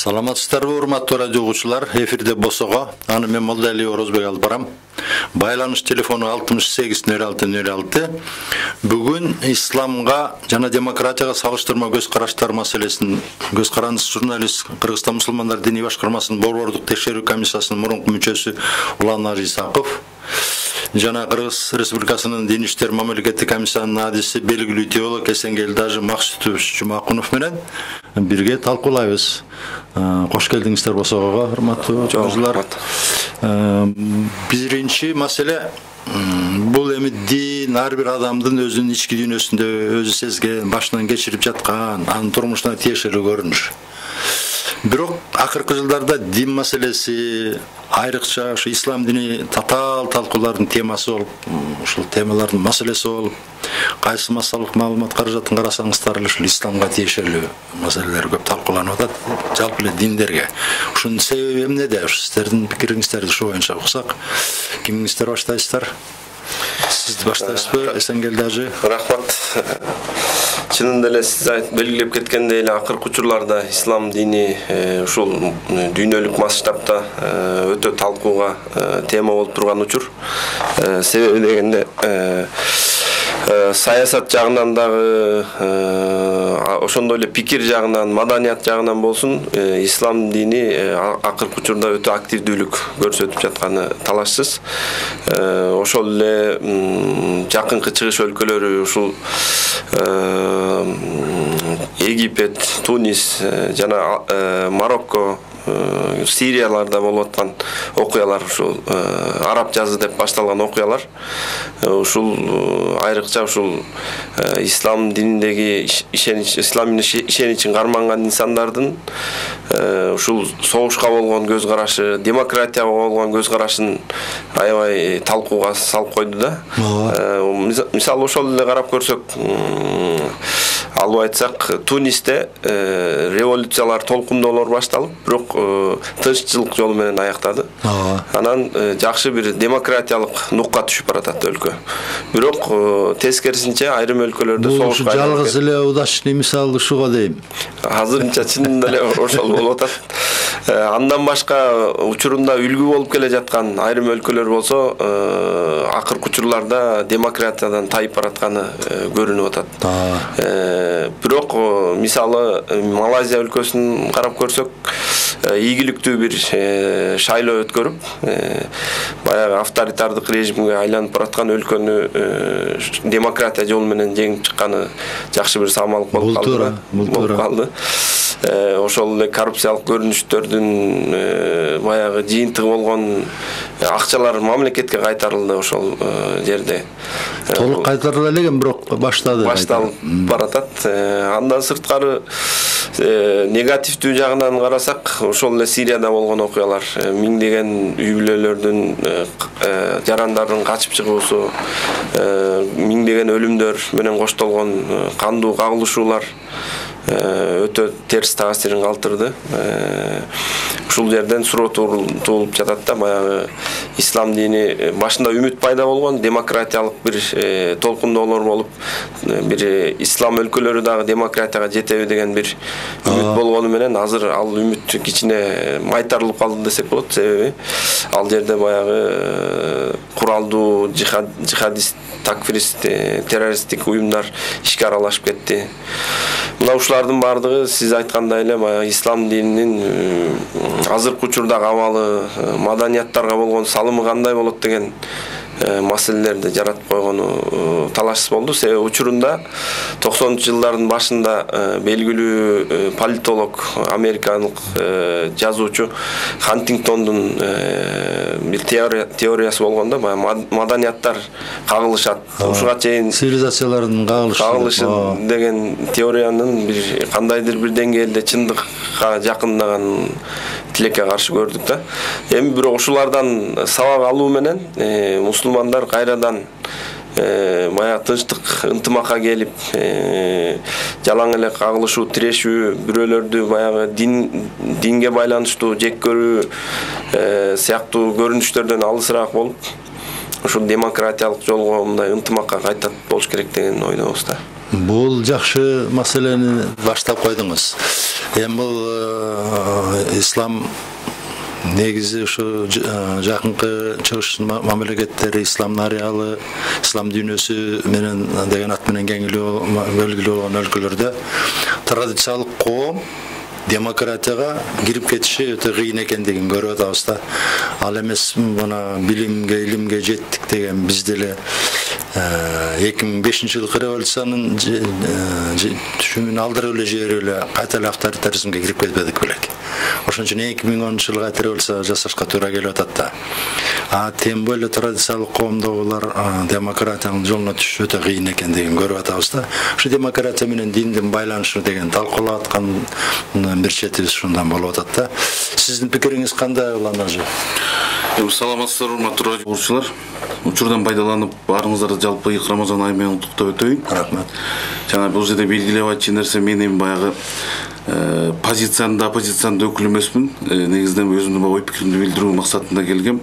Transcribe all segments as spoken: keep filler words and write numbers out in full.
Саламатсыздарбы, урматтуу радио угуучулар. Эфирде Босого. Аны мен Молдали Орозбек алып барам. Байланыш телефону алтымыш сегиз нөл алты нөл алты. Бүгүн исламга жана демократияга салыштырма көз караштар маселесин көз карандысы журналист Кыргызстан мусулмандар диний башкармасынын борбордук текшерүү комиссиясынын мурунку мүчөсү Улан Ажисаков жана Кыргыз Республикасынын Дин иштер мамлекеттик комиссиянын адиси белгилүү теолог Эсенгелдажы Максутов Жумакунов менен бирге талкуулайбыз. Кош келдиңиздер Босогого, урматтуу жолдошулар. Биринчи маселе бул эми дин ар бир адамдын өзүнүн ички дүйнөсүндө өзү сезген, башынан кечирип жаткан, анын турмушуна тиешелүү көрүнүш. Бирок акыркы жылдарда дин маселеси айрыкча ушу ислам дини татаал талкуулардын темасы болуп, ушул темалардын маселеси болуп, кайсы массалык маалымат каражатын карасаңыздар эле ушул исламга тиешелүү маселелер көп талкууланып атат, жалпы эле диндерге. Ушунун себеби эмнеде? Ушу сиздердин пикириңиздерди ушу боюнча уксак. Кимиңиздер баштайсыздар? Сиз баштайсызбы, Эсенгелдажы? Рахмат. Чынында эле сиз белгилеп кеткендей эле акыркы учурларда ислам дини ушул дүйнөлүк масштабта өтө талкууга тема болуп турган учур. Себеби дегенде саясат жагынан дагы ошондой эле пикир жагынан, маданият жагынан болсун, ислам дини акыркы учурда өтө активдүүлүк көрсөтүп жатканы талашсыз. Ошол эле жакынкы чыгыш өлкөлөрү ушул Египет, Тунис жана Марокко, Сирияларда болуп аткан окуялар, ушул араб жазы деп башталган окуялар ушул айрыкча ушул ислам дининдеги ишенич, ислам ишеничин карманган инсандардын ушул согушка болгон көз карашы, демократияга болгон көз карашын аябай талкууга салып койду да. Мисалы ошол эле карап көрсөк, алып айтсак, Тунисте революциялар, толкундоолор башталып, бирок тынччылык жолу менен аяктады. Анан жакшы бир демократиялык нукка түшүп баратат өлкө. Бирок тескерисинче айрым өлкөлөрдө согушка жалгыз эле удачный мисал ушуга дейм. Азырынча чынында эле ошол болуп атат. Андан башка учурунда үлгү болуп келе жаткан айрым өлкөлөр болсо, акыркы учурларда демократиядан тайып баратканы көрүнүп атат. Бирок мисалы Малайзия өлкөсүн карап көрсөк, ийгиликтүү бир шайлоо өткөрүп, баягы авторитардык режимге айланып бараткан өлкөнү демократия жолу менен жеңип чыкканы жакшы бир самалык болуп калды. Болуп калды. Ошол эле коррупциялык көрүнүштөрдүн баягы жыйынтыгы болгон акчалар мамлекетке кайтарылды ошол жерде. Толук кайтарыла элеген, бирок баштады. Башталып баратат. Андан сырткары негативдүү жагынан карасак, ошол эле Сирияда болгон окуялар, миңдеген үй бүлөлөрдүн жарандардын качып чыгуусу, миңдеген өлүмдөр менен коштолгон кандуу кагылышуулар өтө терс таасирин калтырды. Ушул жерден суроо туулуп жатат да, баягы ислам дини башында үмүт пайда болгон, демократиялык бир толкундоолор болуп, бир ислам өлкөлөрү дагы демократияга жетеби деген бир үмүт болгону менен азыр ал үмүт кичине майтарылып калды десек болот. Себеби ал жерде баягы куралдуу жихадист, такфирист, террористтик уюмдар ишке аралашып кетти. Мына ушулардын бардыгы сиз айткандай эле баягы ислам дининин азыркы учурдагы абалы, маданияттарга болгон салымы кандай болот деген маселелерди жаратып койгону талашсыз болду. Себеби учурунда токсонунчу жылдардын башында белгилүү политолог, америкалык жазуучу Хантингтондун бир теориясы болгондо, маданияттар кагылышат. Ушуга чейин цивилизациялардын кагылышы деген теориянын бир кандайдыр бир деңгээлде чындыкка жакындаган тилекке каршы көрдүк да. Эми бирок ушулардан сабак алуу менен мусулмандар кайрадан баягы тынчтык, ынтымакка келип, жалаң эле кагылышуу, тирешүү, бирөөлөрдү баягы дин динге байланыштуу жек көрүү сыяктуу көрүнүштөрдөн алысыраак болуп, ушул демократиялык жолго мындай ынтымакка кайтат болуш керек деген ойдобуз да. Бул жакшы маселени баштап койдуңуз. Эми бул ислам негизи ушу жакынкы чыгыш мамлекеттери, ислам ареалы, ислам дүйнөсү менен деген ат менен кеңилүү белгилүү болгон өлкөлөрдө традициялык коом демократияга кирип кетиши өтө кыйын экендигин көрүп атабыз да. Ал эмес мына билимге, илимге жеттик деген биз деле эки миң бешинчи жылкы революциянын түшүмүн алдырып эле жиберип эле кайта эле авторитаризмге кирип кетпедик белек. Ошон үчүн эки миң онунчу жылы кайта революция жасашка туура келип атат да. А тем более традициялык коомдогулар демократиянын жолуна түшүш өтө кыйын экендигин көрүп атабыз да. Ушу демократия менен диндин байланышы деген талкуулап аткан бир четибиз ушундан болуп атат да. Сиздин пикириңиз кандай уланажы? Саламатсыздар, урматтуу радио угуучулар. Учурдан пайдаланып, баарыңыздарды жалпы ыйык Рамазан айы менен куттуктап өтөйүн. Рахмат. Жана бул жерде белгилеп айтчу нерсе, мен эми баягы позициянын да оппозициянын да өкүлү эмесмин. Негизинен өзүмдүн ой пикиримди билдирүү максатында келгем.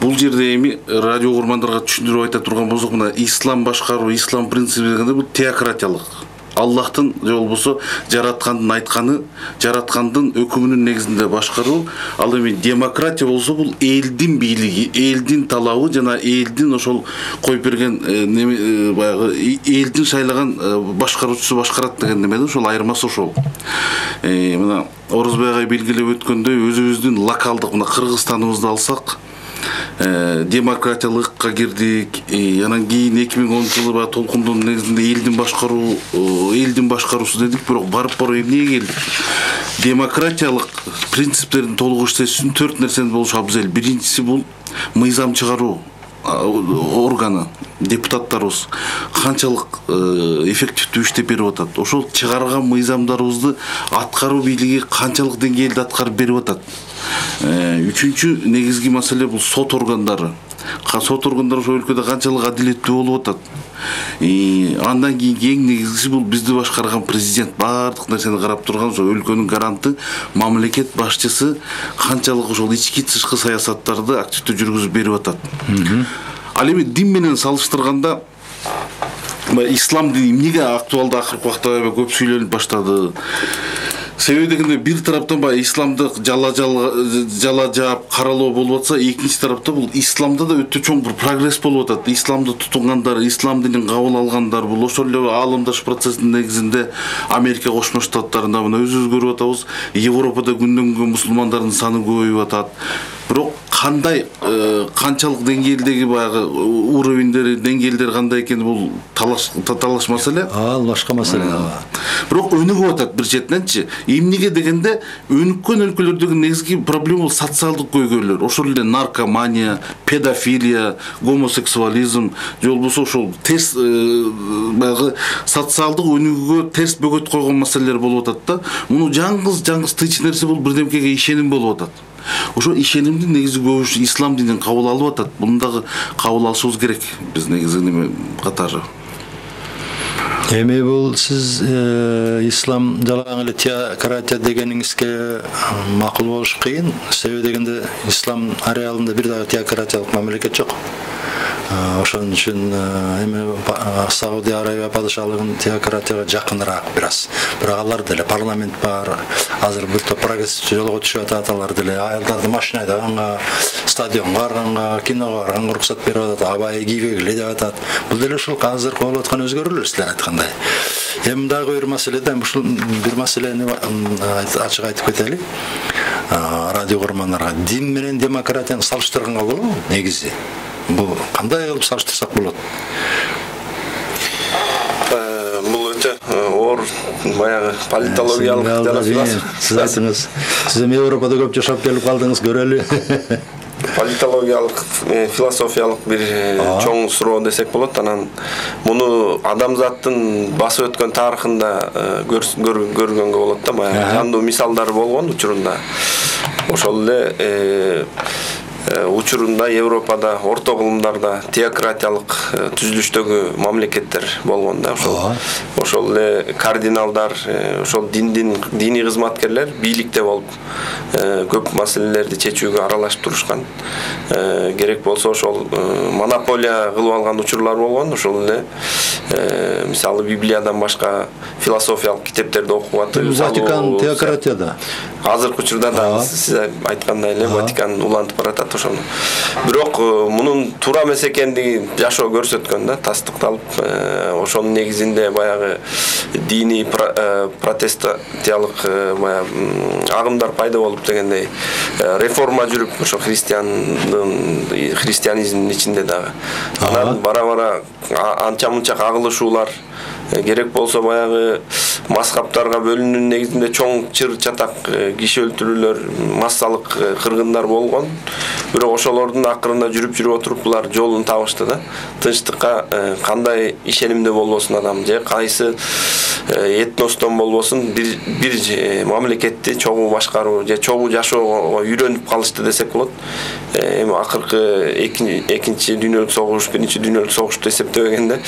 Бул жерде эми радио угурмандарга түшүндүрүп айта турган болсок, мына ислам башкаруу, ислам принципи дегенде бул теократиялык. Аллахтын же болбосо жараткандын айтканы, жараткандын өкүмүнүн негизинде башкаруу. Ал эми демократия болсо бул элдин бийлиги, элдин талабы жана элдин ошол коюп берген неме баягы элдин шайлаган башкаруучусу башкарат деген немеде ошол айырмасы ошол. Мына Орозбек агай белгилеп өткөндөй өзүбүздүн локалдык мына Кыргызстаныбызды алсак, демократиялыкка кирдик. Анан кийин эки миң онунчу жылы баягы толкундун негизинде элдин башкаруу, элдин башкаруусу дедик, бирок барып барып эмнеге келдик? Демократиялык принциптердин толук иштеши төрт нерсени болушу абзел. Биринчиси бул мыйзам чыгаруу органы, депутаттарыбыз канчалык эффективдүү иштеп берип атат. Ошол чыгарган мыйзамдарыбызды аткаруу бийлиги канчалык деңгээлде аткарып берип атат. Үчүнчү негизги маселе бул сот органдары. Сот органдары ошол өлкөдө канчалык адилеттүү болуп атат. Андан кийинки эң негизгиси бул бизди башкарган президент, баардык нерсени карап турган ошол өлкөнүн гаранты, мамлекет башчысы канчалык ошол ички тышкы саясаттарды активдүү жүргүзүп берип атат. Ал эми дин менен салыштырганда ислам дини эмнеге актуалдуу акыркы убакта көп сүйлөнүп баштады? Себеби дегенде бир тараптан баягы исламды жала жала жаап каралоо болуп атса, экинчи тарапта бул исламда да өтө чоң бир прогресс болуп атат. Исламды тутунгандар, ислам динин кабыл алгандар бул ошол эле аалымдаш процесстин негизинде Америка Кошмо Штаттарында мына өзүбүз көрүп атабыз, Европада күндөн күнгө мусулмандардын саны көбөйүп атат. Бирок кандай канчалык деңгээлдеги баягы уровендери, деңгээлдери кандай экени бул талаш талаш маселе. Ал башка маселе. Бирок өнүгүп атат бир четиненчи. Эмнеге дегенде өнүккөн өлкөлөрдөгү негизги проблема бул социалдык көйгөйлөр. Ошол эле наркомания, педофилия, гомосексуализм, же болбосо ошол терс баягы социалдык өнүгүүгө терс бөгөт койгон маселелер болуп атат да. Муну жаңгыз жаңгыз тыч нерсе бул бирдемкеге ишеним болуп атат. Ошо ишенимдин негизи көбүшү ислам динин кабыл алып атат. Муну дагы кабыл алышыбыз керек биз негизи неме катары. Эми бул сиз ислам жалган эле теократия дегениңизге макул болуш кыйын. Себеби дегенде ислам ареалында бир дагы теократиялык мамлекет жок. Ошон үчүн эми Саудия Арабия падышалыгынын теократияга жакыныраак бир аз. Бирок алар деле парламент бар. Азыр бир топ прогрессчи жолго түшүп атат, алар деле аялдарды машина айдаганга, стадионго барганга, киного барганга уруксат берип атат, абай кийбегиле деп атат. Бул деле ушул азыркы болуп аткан өзгөрүүлөр силер айткандай. Эми дагы бир маселеде ушул бир маселени ачык айтып кетели. Радио угурмандарга дин менен демократияны салыштырганга болобу негизи? Бул кандай кылып салыштырсак болот? Бул өтө оор баягы политологиялык жаратылат. Сиз айтыңыз. Сиз эми Европада көп жашап келип калдыңыз, көрөлү. Политологиялык, философиялык бир чоң суроо десек болот. Анан муну адамзаттын басып өткөн тарыхында көргөнгө болот да, баягы жандуу мисалдар болгон учурунда. Ошол эле учурунда Европада орто кылымдарда теократиялык түзүлүштөгү мамлекеттер болгон да. Ошол ошол эле кардиналдар, ошол диндин диний кызматкерлер бийликте болуп көп маселелерди чечүүгө аралашып турушкан. Керек болсо ошол монополия кылып алган учурлар болгон. Ошол эле мисалы Библиядан башка философиялык китептерди окуп атып, Ватикан теократияда. Азыркы учурда да сиз айткандай эле Ватикан улантып баратат ошону. Бирок мунун туура эмес экендиги жашоо көрсөткөн да, тастыкталып, ошонун негизинде баягы диний протестантиялык баягы агымдар пайда болуп дегендей реформа жүрүп, ошо христиандын христианизмдин ичинде дагы. Анан бара-бара анча-мунча кагылышуулар, керек болсо баягы мазхабтарга бөлүнүүнүн негизинде чоң чыр чатак киши өлтүрүүлөр, массалык кыргындар болгон. Бирок ошолордун акырында жүрүп жүрүп отуруп булар жолун табышты да. Тынчтыкка кандай ишенимде болбосун адам, же кайсы этностон болбосун бир бир мамлекетти чогуу башкаруу же чогуу жашоого үйрөнүп калышты десек болот. Эми акыркы экинчи дүйнөлүк согуш, биринчи дүйнөлүк согушту эсептебегенде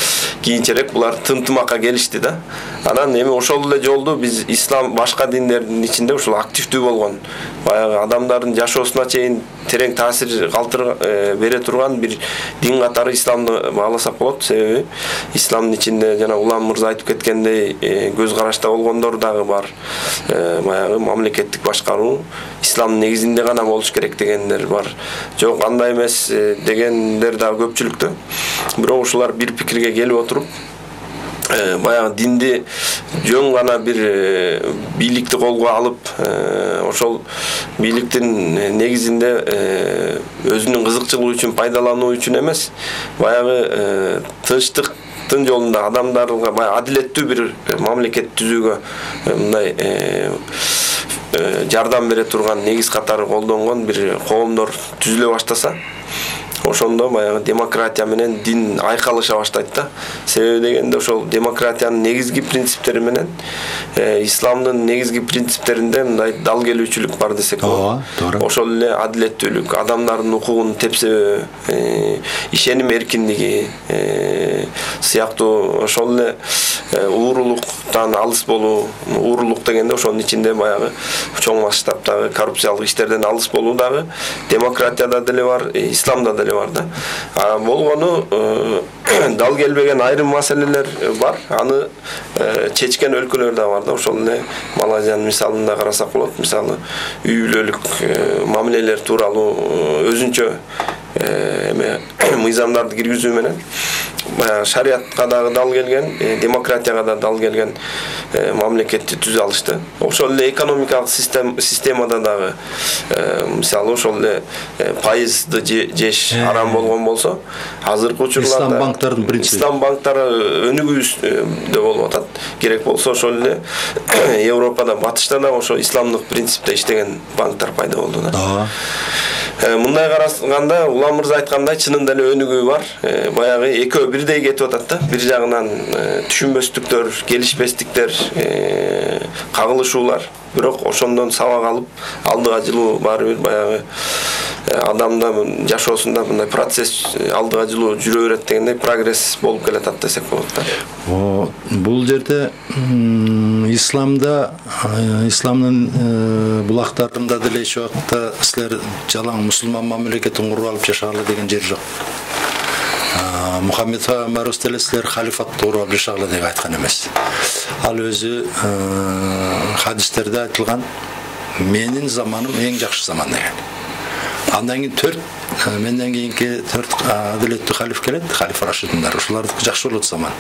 кийинчерээк булар тынтымакка келишти да. Анан эми ошол эле жолду биз ислам башка диндердин ичинде ушул активдүү болгон, баягы адамдардын жашоосуна чейин терең таасир калтыр бере турган бир дин катары исламды бааласак болот. Себеби исламдын ичинде жана Улам мырза айтып кеткендей көз карашта болгондор дагы бар. Баягы мамлекеттик башкаруу исламдын негизинде гана болуш керек дегендер бар. Жок, андай эмес дегендер дагы көпчүлүктө. Бирок ушулар бир пикирге келип отуруп, баягы динди жөн гана бир бийликти колго алып, ошол бийликтин негизинде өзүнүн кызыкчылыгы үчүн пайдалануу үчүн эмес, баягы тынчтыктын жолунда адамдарга баягы адилеттүү бир мамлекет түзүүгө мындай жардам бере турган негиз катары колдонгон бир коомдор түзүлө баштаса, ошондо баягы демократия менен дин айкалыша баштайт да. Себеби дегенде ошол демократиянын негизги принциптери менен исламдын негизги принциптеринде мындай дал келүүчүлүк бар десек болот. Ошол эле адилеттүүлүк, адамдардын укугун тепсебөө, ишеним эркиндиги сыяктуу ошол эле уурулуктан алыс болуу. Уурулук дегенде ошонун ичинде баягы чоң масштабтагы коррупциялык иштерден алыс болуу дагы демократияда деле бар, исламда деле бар да. А болгону дал келбеген айрым маселелер бар. Аны чечкен өлкөлөр да бар да. Ошол эле Малайзиянын мисалында карасак болот. Мисалы үй бүлөлүк мамилелер тууралуу өзүнчө эме мыйзамдарды киргизүү менен баягы шариатка дагы дал келген, демократияга да дал келген мамлекетти түзө алышты. Ошол эле экономикалык системада дагы мисалы ошол эле пайызды жеш арам болгон болсо, азыркы учурларда ислам банктардын принципи, ислам банктары өнүгүүбүздө болуп атат. Керек болсо ошол эле Европада, батышта да ошо исламдык принципте иштеген банктар пайда болду да. Мындай караганда Улам мырза айткандай чынында эле өнүгүү бар. Баягы экөө бирдей кетип атат да. Бир жагынан түшүнбөстүктөр, келишпестиктер, кагылышуулар. Бирок ошондон сабак алып, алдыга жылуу баары бир баягы адамда жашоосунда мындай процесс алдыга жылуу жүрө берет дегендей прогресс болуп келатат десек болот да. Бул жерде исламда, исламдын булактарында деле эч убакта силер жалаң мусулман мамлекетин куруп алып жашагыла деген жер жок. Мухаммед пайгамбарыбыз деле силер халифатты куруп алып жашагыла деп айткан эмес. Ал өзү хадистерде айтылган менин заманым эң жакшы заман деген. Андан кийин төрт менден кийинки төрт адилеттүү халиф келет, халифа Рашидиндар. Ушулардыкы жакшы болот заман.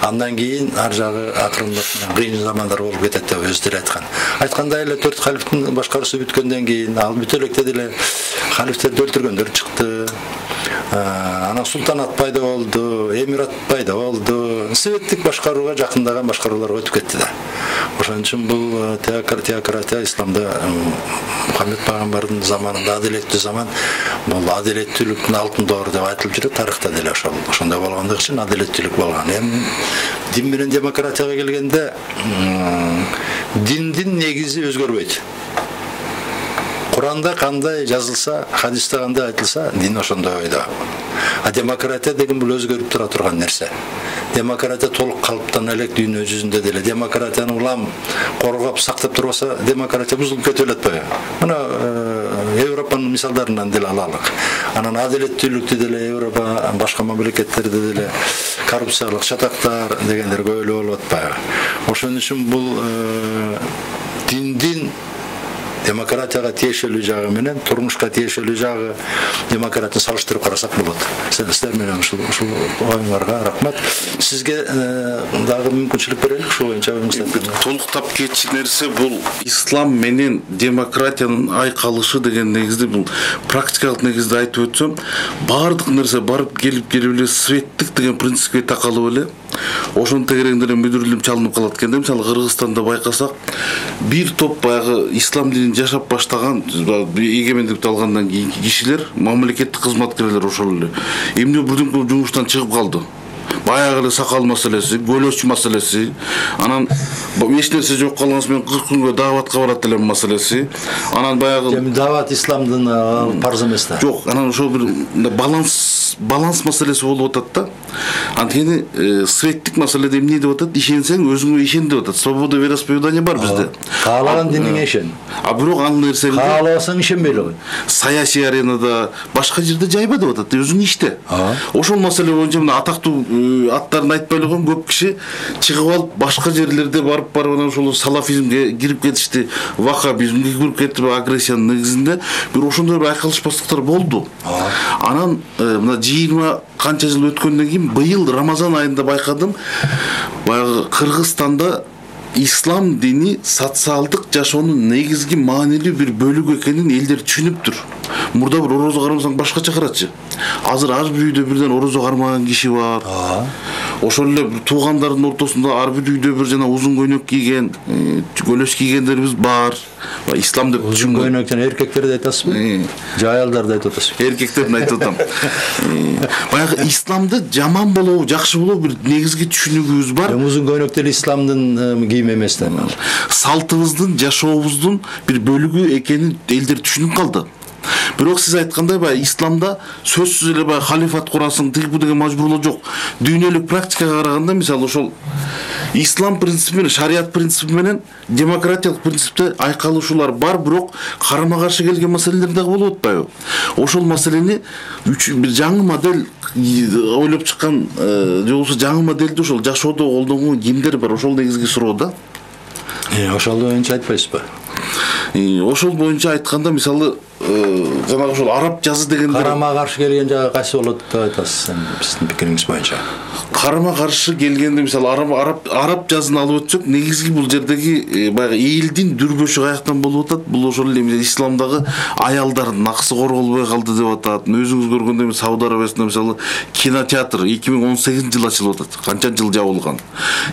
Андан кийин ар жагы акырындап кыйын замандар болуп кетет деп өзү деле айткан. Айткандай эле төрт халифтин башкаруусу бүткөндөн кийин ал бүтө электе деле халифтерди өлтүргөндөр чыкты. Анан султанат пайда болду, эмират пайда болду. Советтик башкарууга жакындаган башкаруулар өтүп кетти да. Ошон үчүн бул теократия исламда Мухаммед пайгамбардын заманында адилеттүү заман, бул адилеттүүлүктүн алтын доору деп айтылып жүрөт. Тарыхта деле ошол ошондой болгондугу үчүн адилеттүүлүк болгон. Эми дин менен демократияга келгенде диндин негизи өзгөрбөйт. Куранда кандай жазылса, хадисте кандай айтылса, дин ошондой ойдо. А демократия деген бул өзгөрүп тура турган нерсе. Демократия толук калыптан элек дүйнө жүзүндө деле демократияны улам коргоп сактап турбаса, демократия бузулуп кетип элетпи? Мына Европанын мисалдарынан деле алалык. Анан адилеттүүлүктү деле Европа башка мамлекеттерде деле коррупциялык чатактар дегендер көп эле болуп атпайбы? Ошон үчүн бул диндин демократияга тиешелүү жагы менен турмушка тиешелүү жагы демократияны салыштырып карасак болот. Сиздер менен ушул ушул оюңарга рахмат. Сизге дагы мүмкүнчүлүк берелик ушул боюнча оюңузду. Толуктап кетчү нерсе бул ислам менен демократиянын айкалышы деген негизде бул практикалык негизде айтып өтсөм, баардык нерсе барып келип келип эле светтик деген принципке такалып эле ошонун тегерегинде мүдүрүлүп чалынып калат экен да. Мисалы Кыргызстанда байкасак, бир топ баягы ислам динин жашап баштаган эгемендикти алгандан кийинки кишилер, мамлекеттик кызматкерлер ошол эле эмне бирден жумуштан чыгып калды. Баягы эле сакал маселеси, көлөч маселеси, анан эч нерсе жок калгансы менен кырк күнгө дааватка барат элем маселеси. Анан баягы даават исламдын парз эмес да. Жок, анан ошол бир баланс баланс маселеси болуп атат да. Анткени светтик маселеде эмне деп атат? Ишенсең өзүңө ишен деп атат. Свобода вероисповедания бар бизде. Каалаган диниңе ишен. А бирок ал нерсени каалабасаң ишенбей эле кой. Саясий аренада башка жерде жайба деп атат. Өзүң иште. Ошол маселе боюнча мына атактуу аттарын айтпай эле койгон көп киши чыгып алып башка жерлерде барып барып анан ошол салафизмге кирип кетишти, ваххабизмге кирип кетип агрессиянын негизинде бир ошондой бир айкалышпастыктар болду. Анан мына жыйырма канча жыл өткөндөн кийин быйыл Рамазан айында байкадым, баягы Кыргызстанда ислам дини социалдык жашоонун негизги маанилүү бир бөлүгү экенин элдер түшүнүптүр. Мурда бир орозо кармасаң башкача карачы. Азыр ар бир үйдө бирден орозо кармаган киши бар. Ошол эле туугандардын ортосунда ар бир үйдө бир жана узун көйнөк кийген, көлөч кийгендерибиз бар. Ислам деп узун көйнөктөн эркектерди айтасызбы? Же аялдарды айтып атасызбы? Эркектерди айтып атам. Баягы исламды жаман болобу, жакшы болобу бир негизги түшүнүгүбүз бар. Узун көйнөк деле исламдын кийим эмес да. Салтыбыздын, жашообуздун бир бөлүгү экенин элдер түшүнүп калды. Бирок сиз айткандай баягы исламда сөзсүз эле баягы халифат курасың, тиги бу деген мажбурлоо жок. Дүйнөлүк практикага караганда, мисалы ошол ислам принципи менен, шарият принципи менен демократиялык принципте айкалышуулар бар, бирок карама-каршы келген маселелер дагы болуп атпайбы? Ошол маселени бир жаңы модель ойлоп чыккан, же болбосо жаңы модельди ошол жашоодо колдонгон кимдер бар? Ошол негизги суроо да. Ошол боюнча айтпайсызбы? Ошол боюнча айтканда, мисалы жанагы ошол араб жазы дегендер карама каршы келген жагы кайсы болот деп айтасыз сиздин пикириңиз боюнча? Карама каршы келгенде, мисалы араб араб араб жазын алып өтсөк, негизги бул жердеги баягы элдин дүрбөшү каяктан болуп атат? Бул ошол эле исламдагы аялдардын акысы корголбой калды деп атат. Өзүңүз көргөндөй Сауд Арабиясында мисалы кинотеатр эки миң он сегизинчи жылы ачылып атат. Канча жыл жабылган.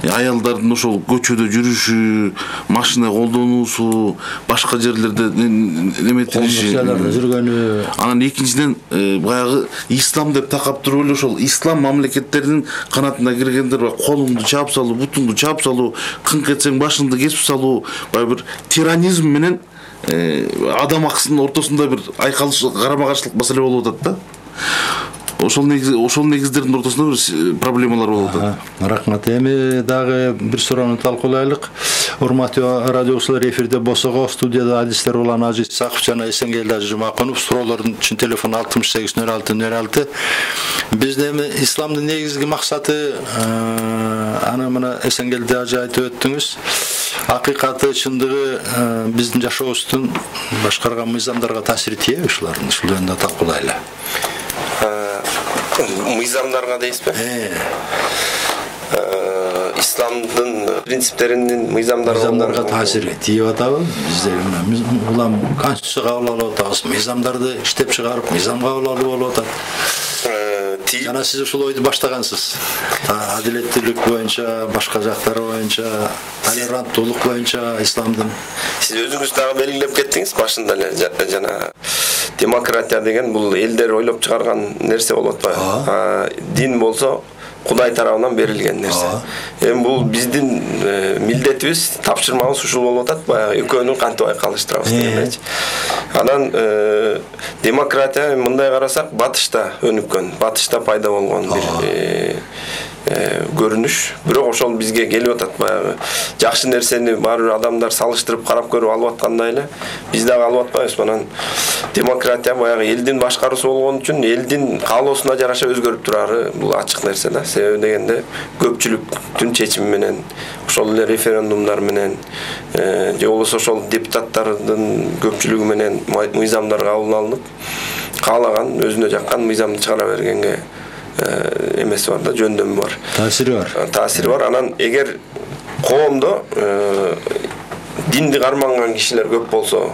Аялдардын ошол көчөдө жүрүшү, машина колдонуусу, башка жерлерде неметилиши жүргөнү. Анан экинчиден баягы ислам деп такап туруп эле ошол ислам мамлекеттеринин канатына киргендер колуңду чаап салуу, бутуңду чаап салуу, кыңк этсең башыңды кесип салуу, баягы бир тиранизм менен адам акысынын ортосунда бир айкалыш, карама-каршылык маселе болуп атат да. Ошол негиз ошол негиздердин ортосунда бир проблемалар болуп атат. Рахмат. Эми дагы бир суроону талкуулайлык. Урматтуу радиочулар, эфирде Босого, студияда адистер улан Ажи Саков жана Эсенгелди Ажы Жумакунов. Суроолордун үчүн телефон алтымыш сегиз нөл алты нөл алты. Бизде эми исламдын негизги максаты, аны мына Эсенгелди Ажы айтып өттүңүз. Акыйкаты, чындыгы биздин жашообуздун башкарган мыйзамдарга таасири тиеби ушулардын? Ушул жөнүндө талкуулайлы. Мыйзамдарга дейсизби? Исламдын принциптеринин мыйзамдарга таасири тийип атабы? Бизде улам конституция кабыл алып атабыз, мыйзамдарды иштеп чыгарып, мыйзам кабыл алуу болуп атат. Жана сиз ушул ойду баштагансыз. Адилеттүүлүк боюнча, башка жактары боюнча, толеранттуулук боюнча исламдын. Сиз өзүңүз дагы белгилеп кеттиңиз башында эле, жана демократия деген бул элдер ойлоп чыгарган нерсе болуп атпайбы? Дин болсо Кудай тарабынан берилген нерсе. Эми бул биздин милдетибиз, тапшырмабыз ушул болуп атат. Баягы экөөнүн кантип айкалыштырабыз дегендечи. Анан демократия мындай карасак батышта өнүккөн, батышта пайда болгон бир көрүнүш. Бирок ошол бизге келип атат. Баягы жакшы нерсени бар бир адамдар салыштырып карап көрүп алып аткандай эле биз дагы алып атпайбыз. Анан демократия баягы элдин башкаруусу болгон үчүн элдин каалоосуна жараша өзгөрүп турары бул ачык нерсе да. Себеби дегенде көпчүлүктүн чечими менен, ошол эле референдумдар менен, же болбосо ошол депутаттардын көпчүлүгү менен мыйзамдар кабыл алынып, каалаган өзүнө жаккан мыйзамды чыгара бергенге эмеси бар да, жөндөмү бар. Таасири бар. Таасири бар. Анан эгер коомдо динди карманган кишилер көп болсо,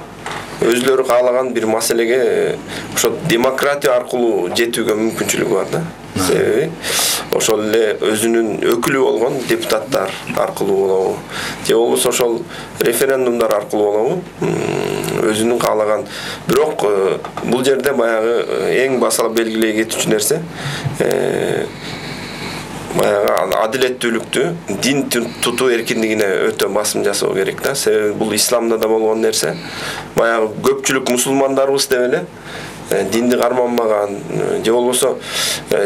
өзлөрү каалаган бир маселеге ошо демократия аркылуу жетүүгө мүмкүнчүлүгү бар да. Себеби ошол эле өзүнүн өкүлү болгон депутаттар аркылуу болобу, же болбосо ошол референдумдар аркылуу болобу, өзүнүн каалаган. Бирок бул жерде баягы эң басалы белгилей кетүүчү нерсе баягы адилеттүүлүктү, дин тутуу эркиндигине өтө басым жасоо керек да. Себеби бул исламда да болгон нерсе. Баягы көпчүлүк мусулмандарыбыз деп эле динди карманбаган, же болбосо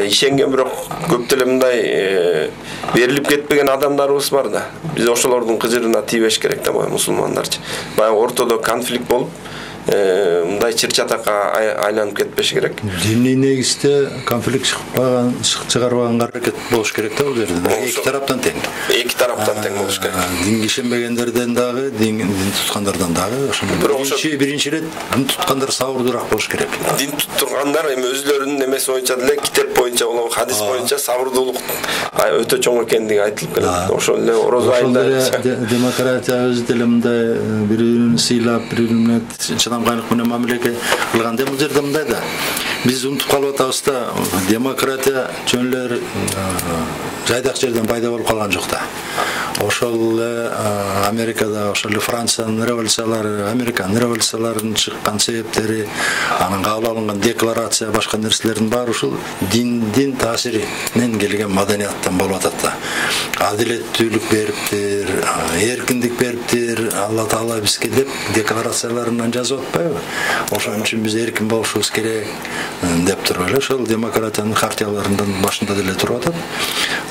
ишенген бирок көп деле мындай берилип кетпеген адамдарыбыз бар да. Биз ошолордун кыжырына тийбеш керек да, баягы мусулмандарчы. Баягы ортодо конфликт болуп, мындай чыр-чатакка айланып кетпеш керек. Диний негизде конфликт чыкпаган, чыгарбаганга аракет болуш керек да бул жерде. Эки тараптан тең. Эки тараптан тең болуш керек. Динге ишенбегендерден дагы, дин туткандардан дагы ошондой. Биринчи биринчи ирет дин туткандар сабырдуураак болуш керек. Дин туткандар эми өзлөрүнүн эмеси боюнча деле, китеп боюнча болобу, хадис боюнча сабырдуулук өтө чоң экендиги айтылып келет. Ошол эле орозо айында демократия өзү деле мындай бири-бирин сыйлап, бири-бирине чыдамкайлык менен мамилеге кылган. Бул жерде мындай да. Биз унутуп калып атабыз да, демократия жөн эле жайдак жерден пайда болуп калган жок да. Ошол эле Америкада, ошол эле Франциянын революциялары, Американын революцияларынын чыккан себептери, анын кабыл алынган декларация, башка нерселердин баары ушул диндин таасиринен келген маданияттан болуп атат да. Адилеттүүлүк бериптир, эркиндик бериптир, Алла Таала бизге деп декларацияларынан жазып атпайбы? Ошон үчүн биз эркин болушубуз керек деп туруп эле ошол демократиянын хартияларынын башында деле туруп атат.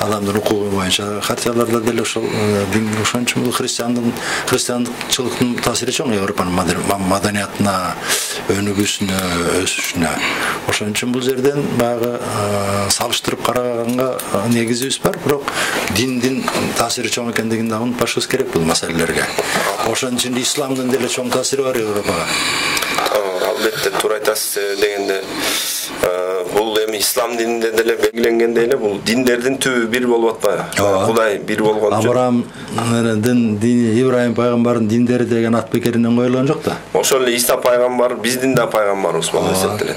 Адамдын укугу боюнча хартияларда деле ошол дин, ошон үчүн бул христиандын христиандыкчылыктын таасири чоң Европанын маданиятына, өнүгүүсүнө, өсүшүнө. Ошон үчүн бул жерден баягы салыштырып караганга негизибиз бар, бирок диндин таасири чоң экендигин да унутпашыбыз керек бул маселелерге. Ошон үчүн исламдын деле чоң таасири бар Европага. Албетте, туура айтасыз. Дегенде бул эми ислам дининде деле белгиленгендей эле бул диндердин түбү бир болуп атпайбы? Кудай бир болгон үчүн. Абрамдын дини, Ибрайым пайгамбардын диндери деген ат бекеринен коюлган жок да. Ошол эле Иса пайгамбар биздин да пайгамбарыбыз болуп эсептелет.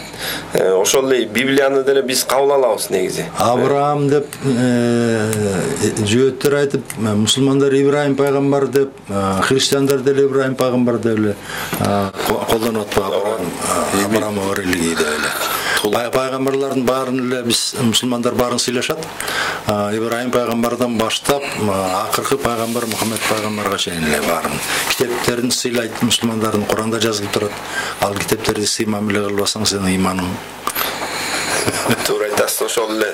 Ошол эле Библияны деле биз кабыл алабыз негизи. Абрам деп жөөттөр айтып, мусулмандар Ибрайым пайгамбар деп, христиандар деле Ибрайым пайгамбар деп эле колдонуп атпайбы? Абрам религия деп эле. Пайгамбарлардын баарын эле биз мусулмандар баарын сыйлашат. Ибрайым пайгамбардан баштап акыркы пайгамбар Мухаммед пайгамбарга чейин эле баарын китептерин сыйлайт мусулмандардын Куранда жазылып турат. Ал китептерди сый мамиле кылбасаң сенин иманың. Туура айтасыз. Ошол эле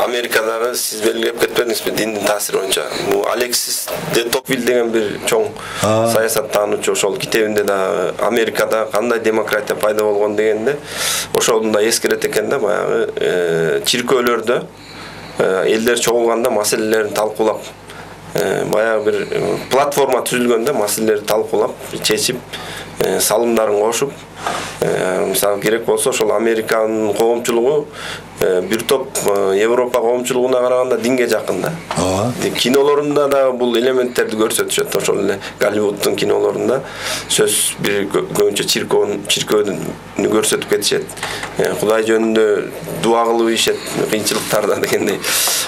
Америкадагы сиз белгилеп кетпедиңизби диндин таасири боюнча? Бул Алексис де Токвиль деген бир чоң саясаттануучу ошол китебинде да Америкада кандай демократия пайда болгон дегенде ошону да эскерет экен да, баягы чиркөөлөрдө элдер чогулганда маселелерин талкуулап, баягы бир платформа түзүлгөндө маселелерди талкуулап, чечип, салымдарын кошуп, мисалы керек болсо ошол Американын коомчулугу бир топ Европа коомчулугуна караганда динге жакын да. Кинолорунда да бул элементтерди көрсөтүшөт. Ошол эле Голливуддун кинолорунда сөз бир көбүнчө чиркөөнү чиркөөнү көрсөтүп кетишет. Кудай жөнүндө дуа кылып ишет кыйынчылыктарда дегендей.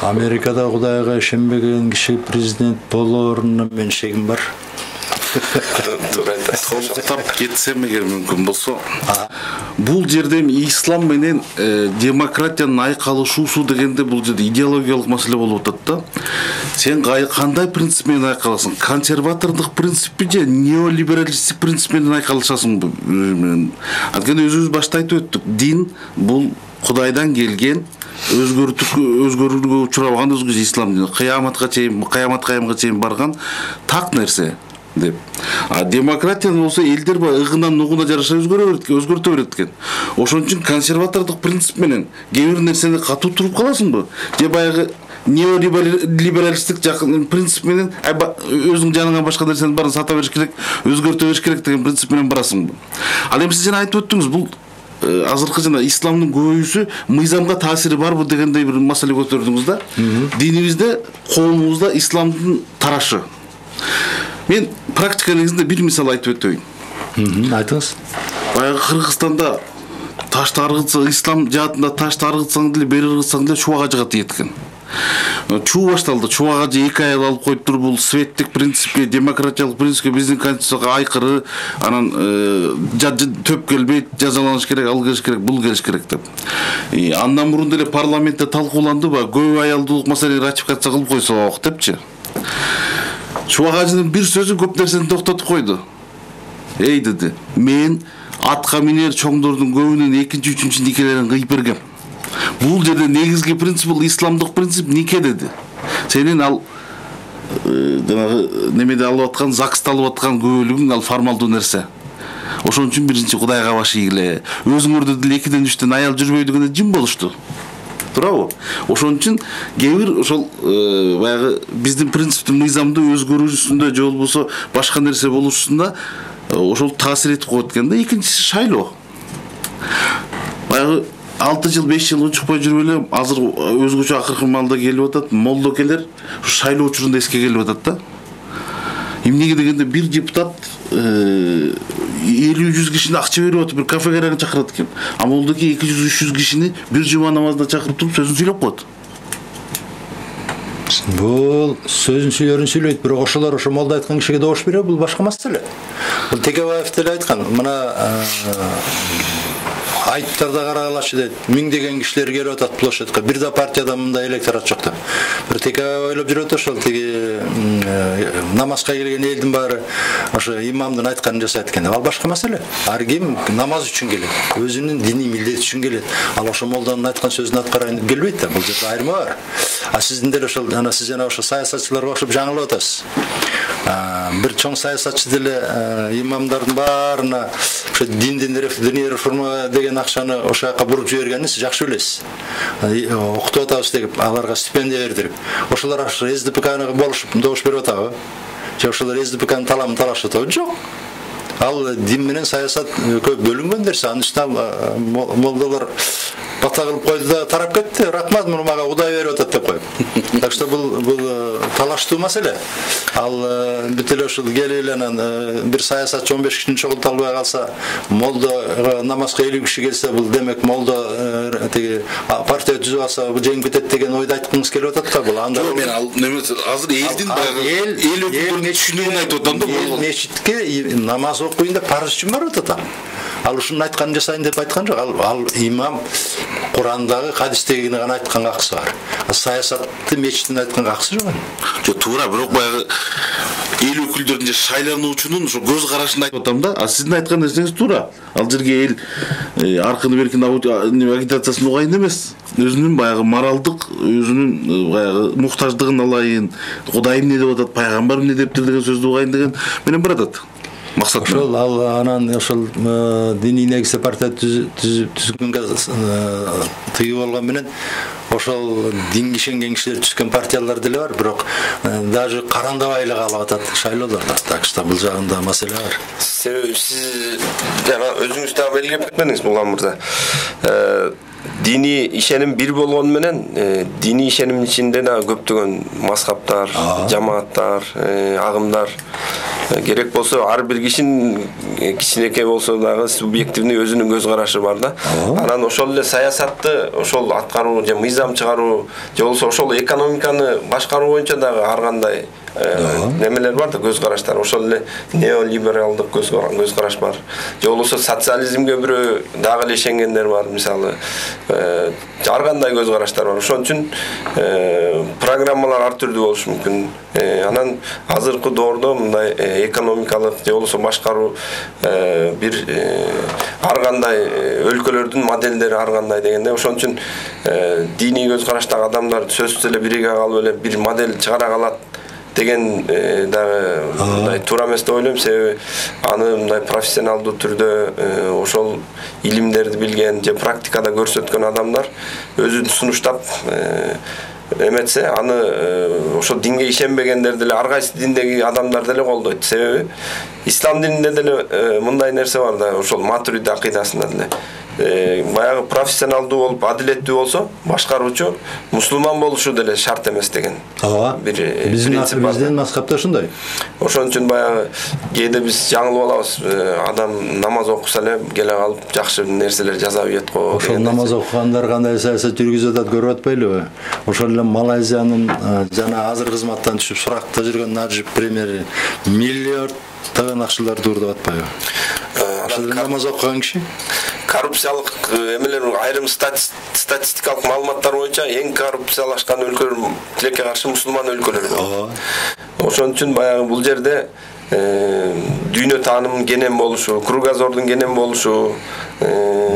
Америкада Кудайга ишенбеген киши президент болооруна мен шегим бар. Толуктап кетсем эгер мүмкүн болсо, бул жерде ислам менен демократиянын айкалышуусу дегенде бул жерде идеологиялык маселе болуп атат да. Сен кандай принцип менен айкаласың? Консерватордук принциппи же неолибералисттик принцип менен айкалышасыңбы? Анткени өзүбүз башта айтып өттүк, дин бул Кудайдан келген, өзгөрүүгө учурабаган өзгөчө ислам дини, кыяматка чейин, кыямат кайымга чейин барган так нерсе деп. А демократия болсо элдер ыгынан нугуна жараша өзгөртө берет экен. Ошон үчүн консерватордук принцип менен кээ бир нерсени катуу туруп каласыңбы? Же баягы неолибералисттик жакын принцип менен өзүң жаныңа башка нерсени баарын сата бериш керек, өзгөртө бериш керек деген принцип менен барасыңбы? Ал эми сиз жана айтып өттүңүз, бул азыркы жана исламдын көбөйүүсү мыйзамга таасири барбы дегендей бир маселе көтөрдүңүз да. Динибизде, коомубузда исламдын тарашы. Мен практика негизинде бир мисал айтып өтөйүн. Айтыңыз. Баягы Кыргызстанда ташты аргытса, ислам жаатында ташты аргытсаң деле, бери аргытсаң деле чубак ажыга тиет экен. Чуу башталды. Чубак ажы эки ай алып коюп туруп, бул светтик принципке, демократиялык принципке, биздин конституцияга айкыры, анан төп келбейт, жазаланыш керек, ал келиш керек, бул келиш керек деп. Андан мурун деле парламентте талкууланды ба, көп аялдуулук маселени ратификация кылып койсок депчи. Чубак ажынын бир сөзү көп нерсени токтотуп койду. Эй деди, мен атка минер чоңдордун көбүнүн экинчи, үчүнчү никелерин кыйып бергем. Бул жерде негизги принцип бул исламдык принцип нике деди. Сенин ал жанагы немеде алып аткан, ЗАГСта алып аткан көбөлүгүң ал формалдуу нерсе. Ошон үчүн биринчи Кудайга баш ийгиле. Өзүңөрдө деле экиден үчтөн аял жүрбөй дегенде жин болушту. Туурабы? Ошон үчүн кээ бир ошол баягы биздин принциптин мыйзамды өзгөрүүсүндө же болбосо башка нерсе болушусунда ошол таасир этип коет экен да. Экинчиси шайлоо. Баягы алты жыл, беш жыл учукпай жүрүп эле азыр өзгөчө акыркы маалда келип атат. Молдокелер шайлоо учурунда эске келип атат да. Эмнеге дегенде бир депутат элүү жүз кишини акча берип атып бир кафеге чакырат экен. А молдоки эки жүз үч жүз кишини бир жума намазына чакырып туруп сөзүн сүйлөп коет. Бул сөзүн сүйлөрүн сүйлөйт, бирок ошолор ошо молда айткан кишиге добуш берет, бул башка маселе. Бул Текебаев деле айткан, мына айттарда каралачы дейт. Миңдеген кишилер келип атат площадька. Бир да партияда мындай электорат жок деп. Бир Текебаев ойлоп жүрөт ошол тиги намазга келген элдин баары ошо имамдын айтканын жасайт экен. Ал башка маселе. Ар ким намаз үчүн келет, өзүнүн диний милдети үчүн келет. Ал ошо молданын айткан сөзүн аткарайын деп келбейт да. Бул жерде айырма бар. А сиздин деле ошол жана сиз жана ошо саясатчыларга окшоп жаңылып атасыз. Бир чоң саясатчы деле имамдардын баарына ошо диндин диний реформа деген акчаны ошол жака буруп жибергенин сиз жакшы билесиз. Окутуп атабыз деп аларга стипендия бердирип, ошолор ошо эс ди пэ каны болушуп добуш берип атабы? Же ошолор эс ди пэ канын таламын талашып атабы? Жок. Ал дин менен саясат көп бөлүнгөн нерсе. Анын үстүнө молдолор бата кылып койду да тарап кетти. Рахмат, муну мага Кудай берип атат деп коюп. Так что бул бул талаштуу маселе. Ал бүт эле ушул келип эле анан бир саясатчы он беш кишини чогулта албай калса, молдо намазга элүү киши келсе, бул демек молдо тиги партия түзүп алса жеңип кетет деген ойду айткыңыз келип атат да. Бул анда мен ал неме азыр элдин эл эл өкүлдөрүнүн түшүнүгүн айтып атам да. Эл мечитке намаз окуйын деп парыз үчүн барып атат. Ал ушунун айтканын жасайын деп айткан жок. Ал, ал имам Курандагы, хадистегини гана айткан акысы бар. Саясатты мечиттин айткан акысы жок. Жок, туура, бирок баягы эл өкүлдөрүнүн же шайлануучунун ошо көз карашын айтып атам да. А сиздин айткан нерсеңиз туура. Ал жерге эл аркыны беркин агитациясын угайын эмес. Өзүнүн баягы моралдык, өзүнүн баягы муктаждыгын алайын, Кудайым эмне деп атат, пайгамбар эмне дептир деген сөздү угайын деген менен баратат. Максат ошол ал анан ошол диний негизде партия түзүлгөнгө тыйып болгон менен ошол динге ишенген кишилер түзгөн партиялар деле бар, бирок даже карандабай эле калып атат шайлоолордо. Так что бул жагында маселе бар. Себеби сиз жана өзүңүз да белгилеп кетмедиңиз Булган мырза. Дини ишеним бир болгону менен дини ишенимдин ичинде да көптөгөн мазхабтар, жамааттар, агымдар керек болсо ар бир кишинин кичинекей болсо дагы субъективный өзүнүн көз карашы бар да. Анан ошол эле саясатты ошол аткаруу же мыйзам чыгаруу же болсо ошол экономиканы башкаруу боюнча дагы ар кандай немелер бар да, көз караштар. Ошол эле неолибералдык көз караш бар. Же болбосо социализмге бирөө дагы эле ишенгендер бар, мисалы. Ар кандай көз караштар бар. Ошон үчүн программалар ар түрдүү болушу мүмкүн. Анан азыркы доордо мындай экономикалык же болбосо башкаруу бир ар кандай өлкөлөрдүн модельдери ар кандай дегенде, ошон үчүн диний көз караштагы адамдар сөзсүз эле бириге калып эле бир модель чыгара калат деген дагы мындай туура эмес деп ойлойм. Себеби аны мындай профессионалдуу түрдө ошол илимдерди билген же практикада көрсөткөн адамдар өзүн сунуштап эметсе, аны ошо динге ишенбегендер деле, ар кайсы диндеги адамдар деле колдойт. Себеби ислам дининде деле мындай нерсе бар да, ошол матуриди акыйдасында деле. Баягы профессионалдуу болуп, адилеттүү болсо, башкаруучу мусулман болушу деле шарт эмес деген. Ооба. Бир принцип бар. Биздин мазхабта ошондой. Ошон үчүн баягы кээде биз жаңылып алабыз. Адам намаз окуса эле келе калып жакшы нерселер жаза ийет го. Ошол намаз окугандар кандай саясат жүргүзүп атат көрүп атпайлыбы? Ошол эле Малайзиянын жана азыр кызматтан түшүп суракта жүргөн Наджиб премьери миллиарддаган акчаларды уурдап атпайбы? Ошол намаз окуган киши коррупциялык эмелер, айрым статистикалык маалыматтар боюнча эң коррупциялашкан өлкөлөр тилекке каршы мусулман өлкөлөр. Ошон үчүн баягы бул жерде дүйнө таанымын кенен болушу, кругозордун кенен болушу,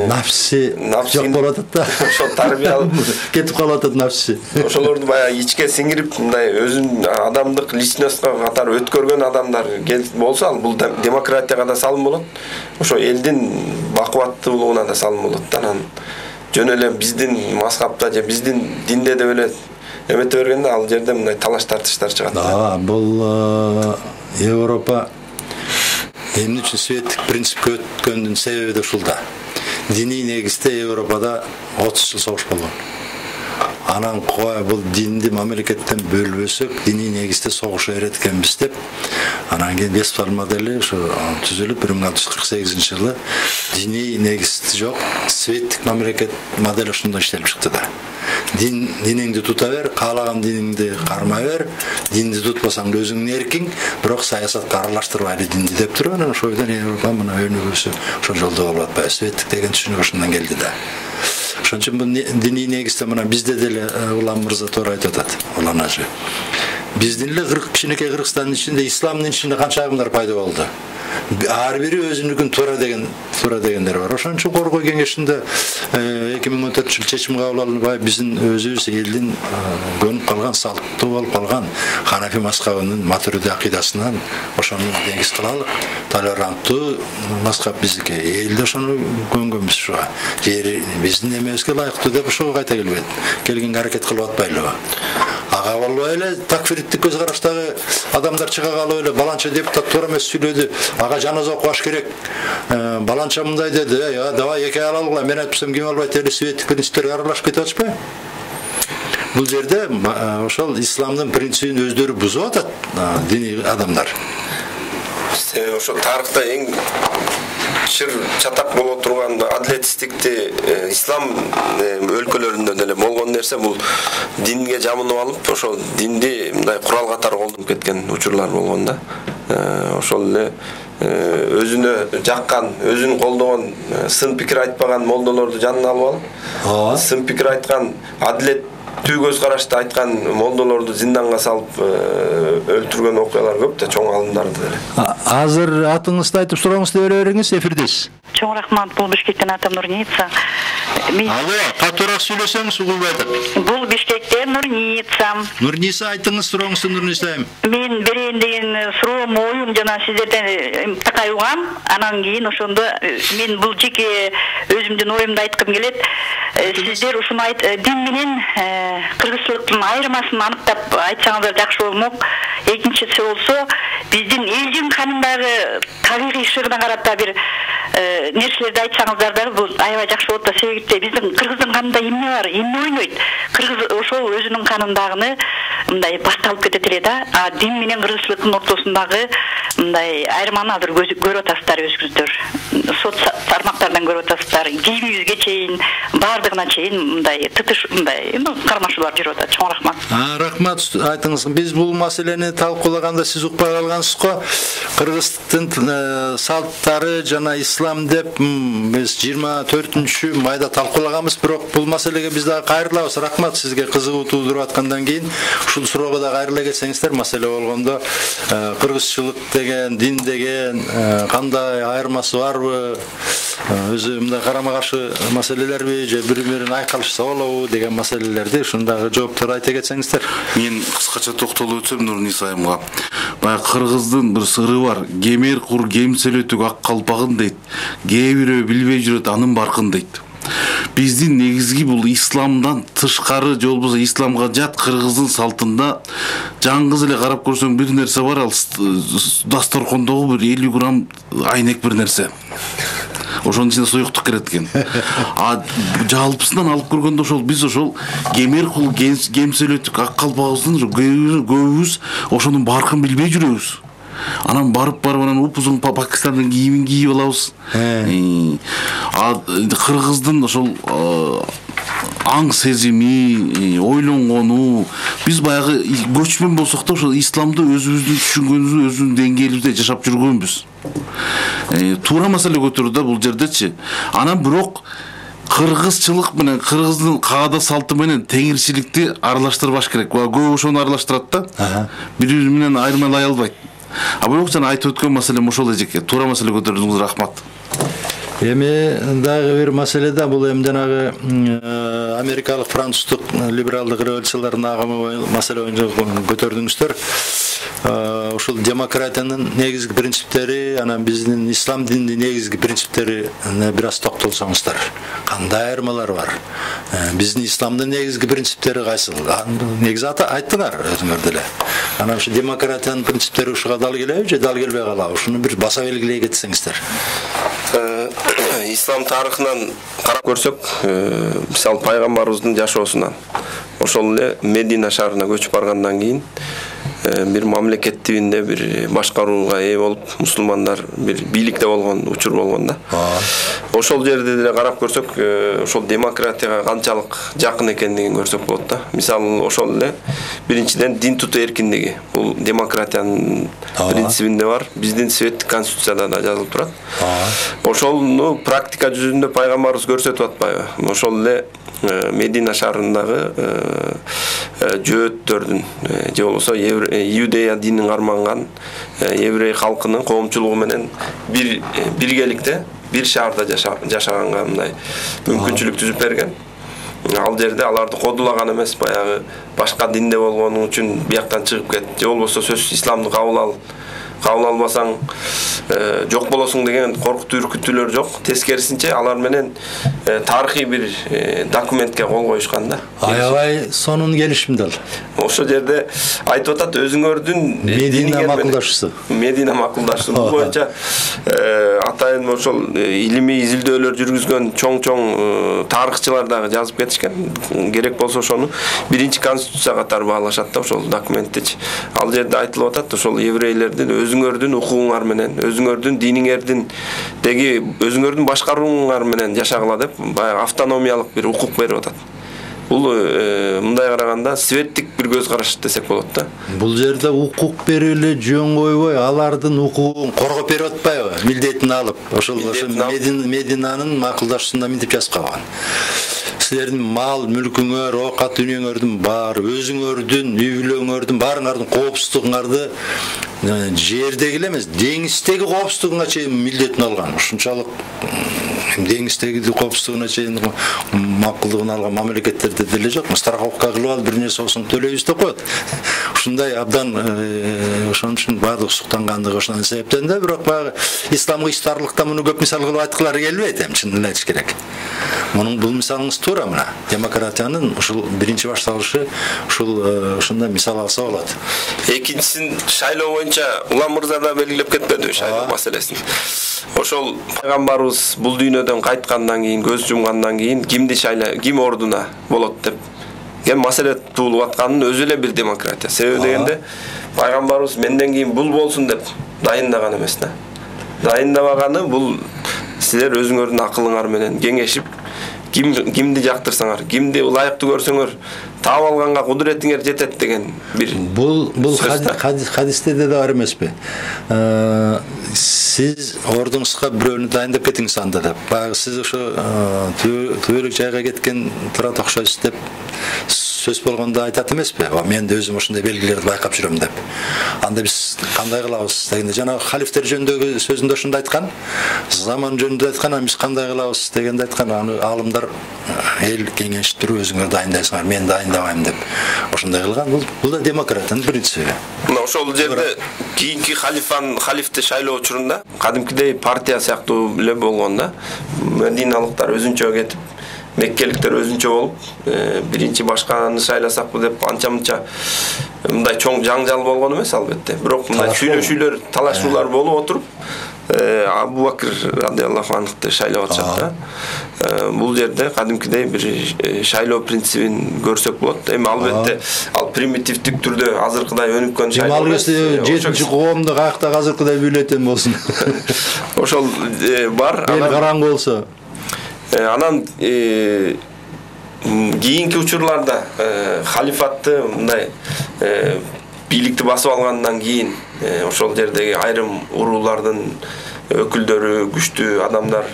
нафси жок болуп атат да. Ошол тарбиялык кетип калып атат нафси. Ошолорду баягы ичке сиңирип, мындай өзүн адамдык личностька катары өткөргөн адамдар болсо, бул демократияга да салым болот. Ошо элдин бакубаттуулугуна да салым болот. Анан жөн эле биздин мазхабта же биздин динде деп эле эмете бергенде ал жерде мындай талаш тартыштар чыгат. Да, бул Европа эмне үчүн светтик принципке өткөндүн себеби да ушул да. Диний негизде Европада отуз жыл согуш болгон. Анан кой бул динди мамлекеттен бөлбөсөк, диний негизде согуша берет экенбиз деп, анан кийин Вестфаль модели ошо түзүлүп бир миң алты жүз кырк сегизинчи жылы диний негиз жок, светтик мамлекет модель ошондой иштелип чыкты да. Дин диниңди тута бер, каалаган диниңди кармай бер, динди тутпасаң өзүңдүн эркиң, бирок саясатка аралаштырбайлы динди деп туруп, анан ошойдон Европа мына өнүгүүсү ошол жолдо болуп атпайбы. Светтик деген түшүнүк ошондон келди да. Ошон үчүн бул диний негизде мына бизде деле улам мырза туура айтып атат. Уланажы. Биздин эле кичинекей Кыргызстандын ичинде исламдын ичинде канча агымдар пайда болду. Ар бири өзүнүкүн туура деген туура дегендер бар. Ошон үчүн Коргоо кеңешинде эки миң он төртүнчү жылы чечим кабыл алынбай, биздин өзүбүз элдин көнүп калган, салттуу болуп калган Ханафи мазхабынын матуриди акыйдасынан ошону негиз кылалы. Толеранттуу мазхаб биздики. Элде ошону көнгөнбүз ушуга. Жери биздин эмебизге ылайыктуу деп ошого кайта келбейт. Келгенге аракет кылып атпайлыбы? Ага болбой эле такфириттик көз караштагы адамдар чыга калып эле баланча депутат туура эмес сүйлөдү. Ага жаназа окубаш керек. Баланча мындай деди. Я давай эки алалыгла. Мен айтпасам ким албайт эле светтик принциптерге аралашып кетип атышпайбы? Бул жерде ошол исламдын принцибин өздөрү бузуп атат диний адамдар. Ошо тарыхта эң чыр чатак боло турган адилетсиздикти ислам өлкөлөрүндө деле болгон нерсе бул динге жамынып алып, ошол динди мындай курал катары колдонуп кеткен учурлар болгон да. Ошол эле өзүнө жаккан, өзүн колдогон, сын пикир айтпаган молдолорду жанына алып алып, сын пикир айткан, адилет түү көз карашты айткан молдолорду зинданга салып өлтүргөн окуялар көп да, чоң алымдарды деле. Азыр атыңызды айтып сурооңузду бере бериңиз, эфирдесиз. Чоң рахмат, бул Бишкектен атам Нурница. Алло, катуураак сүйлөсөңүз угулбай атат. Бул Бишкектен Нурница. Нурница, айтыңыз сурооңузду, Нурница. Мен берейин деген суроом, оюм жана сиздерден такай угам. Анан кийин ошондо мен бул жеке өзүмдүн оюмду айткым келет. Сиздер ушуну айт, дин менен кыргызчылыктын айырмасын аныктап айтсаңыздар жакшы болмок. Экинчиси болсо, биздин элдин канындагы табигый шыгына карата бир нерселерди айтсаңыздар да бул аябай жакшы болот да. Себеби Эгерде биздин кыргыздын канында эмне бар, эмне ойнойт? Кыргыз ошол өзүнүн канындагыны мындай башка алып кетет эле да. А дин менен кыргызчылыктын ортосундагы мындай айырманы азыр көрүп атасыздар өзүңүздөр. Соц тармактардан көрүп атасыздар. Кийимибизге чейин, баардыгына чейин мындай тытыш мындай кармашуулар жүрүп атат. Чоң рахмат. А, рахмат айтыңыз. Биз бул маселени талкуулаганда сиз укпай калгансыз го. Кыргыздын салттары жана ислам деп биз жыйырма төртүнчү майда талкуулаганбыз, бирок бул маселеге биз дагы кайрылабыз. Рахмат сизге кызыгуу туудуруп аткандан кийин ушул суроого да кайрыла кетсеңиздер. Маселе болгондо кыргызчылык деген, дин деген кандай айырмасы барбы? Өзү мындай карама-каршы маселелерби же бири-бирин айкалышса болобу деген маселелерди ушундагы жооптор айта кетсеңиздер. Мен кыскача токтолуп өтсөм Нурниса айымга. Баягы кыргыздын бир сыры бар. Кемер кур кемселөтүк ак калпагын дейт. Кээ бирөө билбей жүрөт анын баркын дейт. Биздин негизги бул исламдан тышкары же болбосо исламга жат кыргыздын салтында жаңгыз эле карап көрсөң бир нерсе бар, ал дасторкондогу бир элүү грамм айнек бир нерсе. Ошонун ичинде суюктук кирет экен. А жалпысынан алып көргөндө ошол биз ошол кемер кул кемселөтүк ак калпагыбыздын көбүбүз ошонун баркын билбей жүрөбүз. Анан барып барып анан упузун Пакистандын кийимин кийип алабыз. А кыргыздын ошол аң сезими, ойлонгону, биз баягы көчмөн болсок да ошол исламды өзүбүздүн түшүнгөнүбүз, өзүбүздүн деңгээлибизде жашап жүргөнбүз. Туура маселе көтөрдү да бул жердечи. Анан бирок кыргызчылык менен кыргыздын каада салты менен теңирчиликти аралаштырбаш керек. Көп ошону аралаштырат да. Бири-бири менен айырмалай албайт. А бирок жана айтып өткөн маселем ошол эжеке. Туура маселе көтөрдүңүз, рахмат. Эми дагы бир маселе да, бул эми жанагы америкалык, француздук либералдык революциялардын агымы маселе боюнча көтөрдүңүздөр. Ушул демократиянын негизги принциптери, анан биздин ислам дининин негизги принциптерине бир аз токтолсоңуздар. Кандай айырмалар бар? Биздин исламдын негизги принциптери кайсы? Негизи айттыңар өзүңөр деле. Анан ушу демократиянын принциптери ушуга дал келеби же дал келбей калабы? Ушуну бир баса белгилей кетсеңиздер. Ислам тарыхынан карап көрсөк, мисалы пайгамбарыбыздын жашоосунан ошол эле Медина шаарына көчүп баргандан кийин бир мамлекет тибинде бир башкарууга ээ болуп, мусулмандар бир бийликте болгон учур болгон да. Ошол жерде деле карап көрсөк, ошол демократияга канчалык жакын экендигин көрсөк болот да. Мисалы ошол эле биринчиден дин тутуу эркиндиги. Бул демократиянын принцибинде бар. Биздин светтик конституцияда да жазылып турат. Ошолну практика жүзүндө пайгамбарыбыз көрсөтүп атпайбы? Ошол эле Медина шаарындагы жөөттөрдүн же болбосо Иудея динин карманган еврей халкынын коомчулугу менен бир биргеликте бир шаарда жашаганга мындай мүмкүнчүлүк түзүп берген. Ал жерде аларды кодулаган эмес, баягы башка динде болгону үчүн бияктан чыгып кет, же болбосо сөзсүз исламды кабыл ал, кабыл албасаң жок болосуң деген коркутуу үркүтүүлөр жок. Тескерисинче алар менен тарыхый бир документке кол коюшкан да. Аябай сонун келишим дал. Ошол жерде айтып атат, өзүңөрдүн Медина макулдашуусу. Медина макулдашуусу боюнча атайын ошол илимий изилдөөлөр жүргүзгөн чоң-чоң тарыхчылар дагы жазып кетишкен. Керек болсо ошону биринчи конституция катары баалашат да ошол документтечи. Ал жерде айтылып атат, ошол еврейлердин өзүңөрдүн укугуңар менен, өзүңөрдүн диниңердин деги өзүңөрдүн башкарууңар менен жашагыла деп баягы автономиялык бир укук берип атат. Бул мындай караганда светтик бир көз караш десек болот да. Бул жерде укук берип эле жөн койбой, алардын укугун коргоп берип атпайбы? Милдетин алып, ошол Мединанын макулдашуусунда мынтип жазып калган. Силердин мал мүлкүңөр, оокат дүнүйөңөрдүн баары, өзүңөрдүн үй бүлөңөрдүн баарыңардын коопсуздугуңарды жердеги эле эмес, деңиздеги коопсуздугуңа чейин милдетин алган. Ушунчалык деңиздеги коопсуздугуна чейин макулдугун алган мамлекеттерде деле жок. Страховка кылып алып бир нерсе болсоң төлөйбүз деп коет. ушундай абдан ошон үчүн баардык суктангандыгы ошонун себептен да. Бирок баягы исламдык иштарлыкта муну көп мисал кылып айткылары келбейт эми, чынын эле айтыш керек. Мунун бул мисалыңыз туура мына. Демократиянын ушул биринчи башталышы ушул ушундай мисал алса болот. Экинчисин шайлоо боюнча Улам мырза да белгилеп кетпеди шайлоо маселесин. Ошол пайгамбарыбыз бул дүйнөдөн кайткандан кийин, көз жумгандан кийин кимди шайлай, ким ордуна болот деп ген маселе туулуп атканын өзү эле бир демократия. Себеби дегенде пайгамбарыбыз менден кийин бул болсун деп дайындаган эмес да. Дайындабаганы бул силер өзүңөрдүн акылыңар менен кеңешип, ким кимди жактырсаңар, кимди ылайыктуу көрсөңөр таап алганга кудуретиңер жетет деген бир. Бул бул хадисте да бар эмеспи? Сиз ордуңузга бирөөнү дайындап кетиңиз анда деп. Баягы сиз ошо түбөлүк жайга кеткен турат окшойсуз деп сөз болгондо айтат эмеспи? Мен да өзүм ошондой белгилерди байкап жүрөм деп. Анда биз кандай кылабыз дегенде жана халифтер жөнүндөгү сөзүндө ошондо айткан, заман жөнүндө айткан, биз кандай кылабыз дегенде айткан, аны алымдар эл кеңешип өзүңөр дайындайсыңар, мен дайындабайм деп. Ошондой кылган. Бул бул да демократиянын принциби. Мына ошол жерде кийинки халифан халифти шайлоо учурунда кадимкидей партия сыяктуу эле болгон да. Мединалыктар өзүнчө кетип, меккеликтер өзүнчө болуп, биринчи башканы шайласакпы деп анча-мынча мындай чоң жаңжал болгон эмес албетте. Бирок мындай сүйлөшүүлөр, талашуулар болуп отуруп, Абу Бакыр радиаллаху анхты шайлап атышат да. Бул жерде кадимкидей бир шайлоо принцибин көрсөк болот. Эми албетте ал примитивдик түрдө азыркыдай өнүккөн шайлоо. Демалгыс жетинчи коомдо каякта азыркыдай бюллетен болсун. Ошол бар. Эл караңгы болсо. Анан кийинки учурларда халифатты мындай бийликти басып алгандан кийин ошол жердеги айрым уруулардын өкүлдөрү, күчтүү адамдар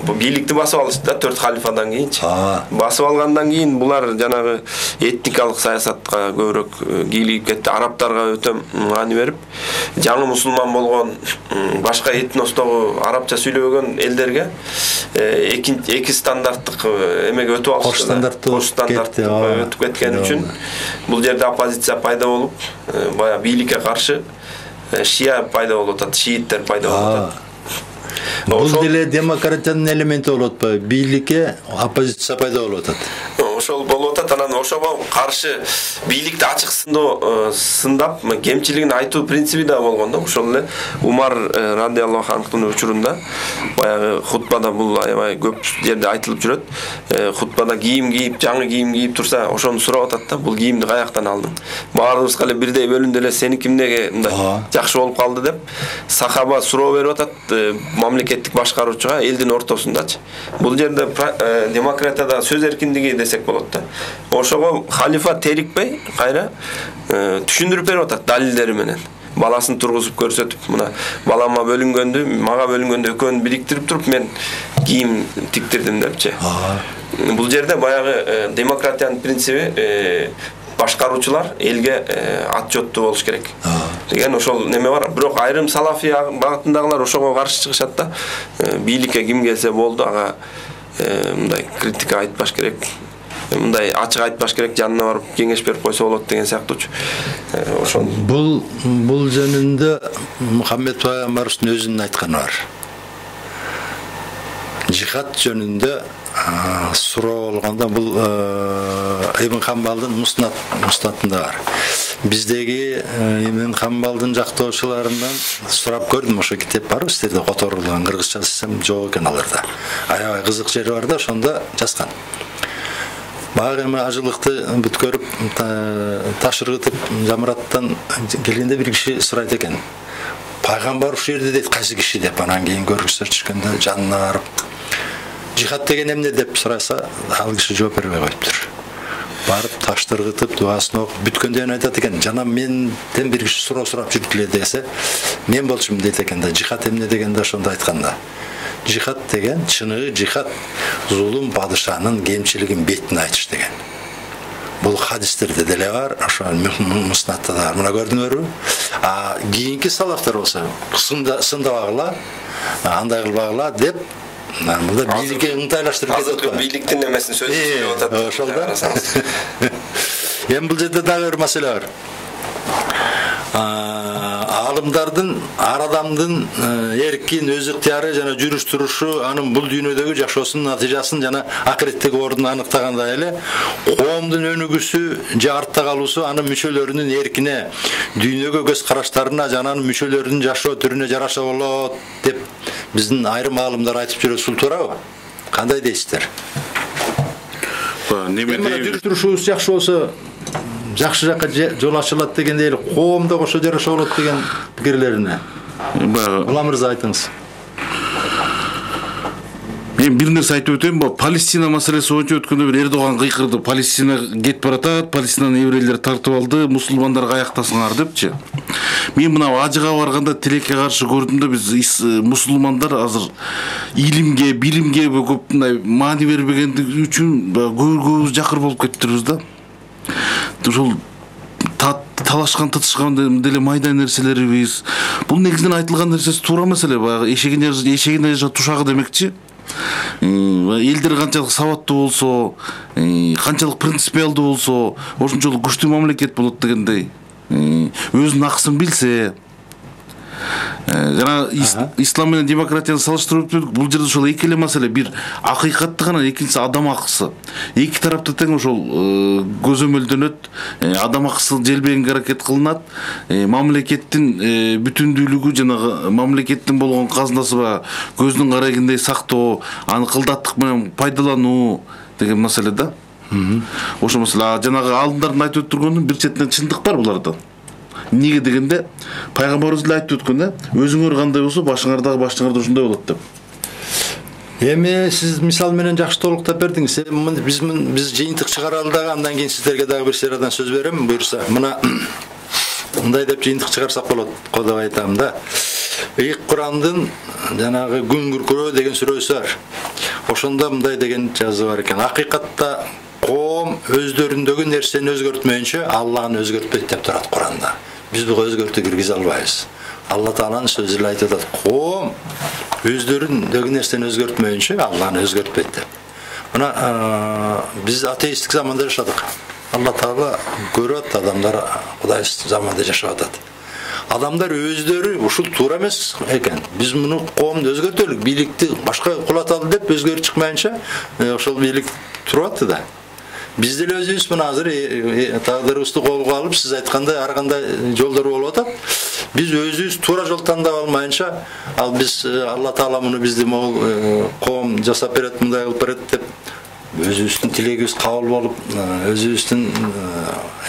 бу бийликти басып алышты да төрт халифадан кийинчи. Басып алгандан кийин булар жанагы этникалык саясатка көбүрөөк кийлигип кетти. Арабтарга өтө маани берип, жаңы мусулман болгон башка этностогу арабча сүйлөбөгөн элдерге эки эки стандарттык эмеге өтүп алышты. Кош стандарттуу өтүп кеткен үчүн бул жерде оппозиция пайда болуп, бая бийликке каршы шия пайда болуп атат, шииттер пайда болуп атат. Бул деле демократиянын элементи болуп атпайбы? Бийликке оппозиция пайда болуп атат. Ошол болуп атат. Анан ошого каршы бийликти ачык сындоо сындап, кемчилигин айтуу принциби да болгон да. Ошол эле Умар радиаллаху анхтын учурунда баягы хутбада бул аябай көп жерде айтылып жүрөт. Хутбада кийим кийип, жаңы кийим кийип турса, ошону сурап атат да. Бул кийимди каяктан алдың? Баарыбызга эле бирдей бөлүндү эле, сеники эмнеге мындай жакшы болуп калды деп сахаба суроо берип атат мамлекеттик башкаруучуга элдин ортосундачы. Бул жерде демократияда сөз эркиндиги десек болот да. Ошого халифа терикпей, кайра түшүндүрүп берип атат далилдери менен. Баласын тургузуп көрсөтүп, мына балама бөлүнгөндү, мага бөлүнгөндү экөөнү бириктирип туруп мен кийим тиктирдим депчи. Бул жерде баягы демократиянын принциби башкаруучулар элге отчеттуу болуш керек деген ошол неме бар. Бирок айрым салафи багытындагылар ошого каршы чыгышат да. Бийликке ким келсе болду, ага мындай критика айтпаш керек, мындай ачык айтпаш керек, жанына барып кеңеш берип койсо болот деген сыяктуучу. Ошол бул бул жөнүндө Мухаммед пайгамбарыбыздын өзүнүн айтканы бар. Жихад жөнүндө суроо болгондо бул Ибн Хамбалдын Муснат муснатында бар. Биздеги Ибн Хамбалдын жактоочуларынан сурап көрдүм, ошо китеп барбы сиздерде которулган, кыргызча десем жок экен аларда. Аябай кызык жери бар да, ошондо жазган. Багы эми ажылыкты бүткөрүп, таш ыргытып, жамыраттан келгенде бир киши сурайт экен. Пайгамбар ушул жерде дейт, кайсы киши деп, анан кийин көргүздөр түшкөндө жанына барып жихад деген эмне деп сураса, ал киши жооп бербей коюптур. Барып ташты ыргытып, дубасын окуп бүткөндөн айтат экен, жана менден бир киши суроо сурап жүрүп эле десе, мен болчумун дейт экен да. Жихад эмне дегенде ошондо айтканда. Жихад деген чыныгы жихад зулум падышанын кемчилигин бетине айтыш деген. Бул хадистерде деле бар, ошо муснатта да бар. Мына көрдүңөрбү? А кийинки салафтар болсо сындабагыла, андай кылбагыла деп мында бийликке ыңтайлаштырып кетип атат. Бийликтин эмесин сөзүн сүйлөп атат. Ошол да. Эми бул жерде дагы бир маселе бар. Алымдардын, ар адамдын эркин, өз ыктыяры жана жүрүш турушу анын бул дүйнөдөгү жашоосунун натыйжасын жана акыреттеги ордун аныктагандай эле коомдун өнүгүүсү же артта калуусу анын мүчөлөрүнүн эркине, дүйнөгө көз караштарына жана анын мүчөлөрүнүн жашоо түрүнө жараша болот деп биздин айрым аалымдар айтып жүрөт. Ушул туурабы? Кандай дейсиздер? Эми жүрүш турушубуз жакшы болсо жакшы жакка жол ачылат дегенде эле коомдо кошо жараша болот деген пикирлерине. Ула мырза айтыңыз. Мен бир нерсе айтып өтөйүн. Палестина маселеси боюнча өткөндө бир Эрдоган кыйкырды. Палестина кетип баратат, Палестинаны еврейлер тартып алды, мусулмандарга аяктасыңар депчи. Мен мына ажыга барганда тилекке каршы көрдүм да, биз мусулмандар азыр илимге, билимге көп маани бербегендиги үчүн көбүбүз жакыр болуп кетиптирбиз да. Ушул талашкан тытышкан деле майда нерселерибиз. Бул негизинен айтылган нерсеси туура маселе. Баягы эшегине эшегине тушагы демекчи. Элдер канчалык сабаттуу болсо, канчалык принципиалдуу болсо, ошончолук күчтүү мамлекет болот дегендей. Өзүнүн акысын билсе, жана ислам менен демократияны салыштырып өттүк. Бул жерде ошол эки эле маселе. Бир акыйкатты гана, экинчиси адам акысы. Эки тарапта тең ошол көзөмөлдөнөт, адам акысы желбегенге аракет кылынат. Мамлекеттин бүтүндүүлүгү жана мамлекеттин болгон казынасы ба көздүн карагендей сактоо, аны кылдаттык менен пайдалануу деген маселе да. Ошол маселе. Жанагы алдындардын айтып өттүргөнүн бир четинен чындык бар буларда. Неге дегенде пайгамбарыбыз эле айтып өткөн да, өзүңөр кандай болсо башыңар дагы башыңар да ошондой болот деп. Эми сиз мисал менен жакшы толуктап бердиңиз. Биз биз жыйынтык чыгаралы дагы, андан кийин сиздерге дагы бир сериядан сөз берем, буюрса. Мына мындай деп жыйынтык чыгарсак болот, кодап айтам да. Ыйык Курандын жанагы күн күркүрөө деген сүрөсү бар. Ошондо мындай деген жазуу бар экен. Акыйкатта коом өздөрүндөгү нерсени өзгөртмөйүнчө Аллахны өзгөртпөйт деп турат Куранда. Биз буга өзгөртүү киргизе албайбыз. Алла Тааланын сөзү эле айтып атат. Коом өздөрүндөгү нерсени өзгөртмөйүнчө Аллахны өзгөртпөйт деп. Мына биз атеисттик заманда жашадык. Алла Таала көрөт, адамдар Кудай заманда жашап атат. Адамдар өздөрү ушул туура эмес экен. Биз муну коомду өзгөртөлүк, бийликти башка кулаталы деп өзгөрүп чыкмайынча ошол бийлик туруп атты да. Биз деле өзүбүз мына азыр тагдырыбызды колго алып, сиз айткандай ар кандай жолдор болуп атат. Биз өзүбүз туура жол тандап алмайынча, ал биз Алла Таала муну бизди могул коом жасап берет, мындай кылып берет деп өзүбүздүн тилегибиз кабыл болуп, өзүбүздүн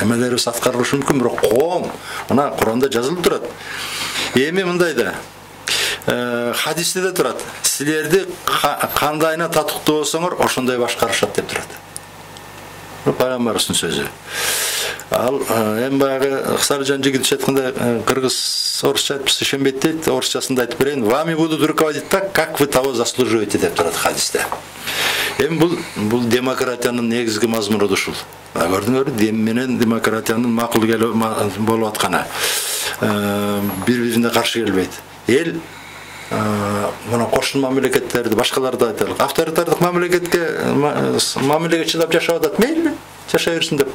эмелерибиз аткарылышы мүмкүн, бирок коом мына Куранда жазылып турат. Эми мындай да хадисте да турат. Силерди кандайына татыктуу болсоңор, ошондой башкарышат деп турат. Пайгамбарыбыздын сөзү. Ал эми баягы Саржан жигит айтканда кыргыз орусча айтпаса ишенбейт дейт, орусчасында айтып берейин. Вами будут руководить так, как вы того заслуживаете деп турат хадисте. Эми бул бул демократиянын негизги мазмуну ушул. Көрдүңөрбү, дем менен демократиянын макул болуп атканы. Бири-бирине каршы келбейт. Эл мына кошун мамлекеттерди, башкаларды айтайлык. Авторитардык мамлекетке мамилеге чыдап жашап атат, мейли, жашай берсин деп.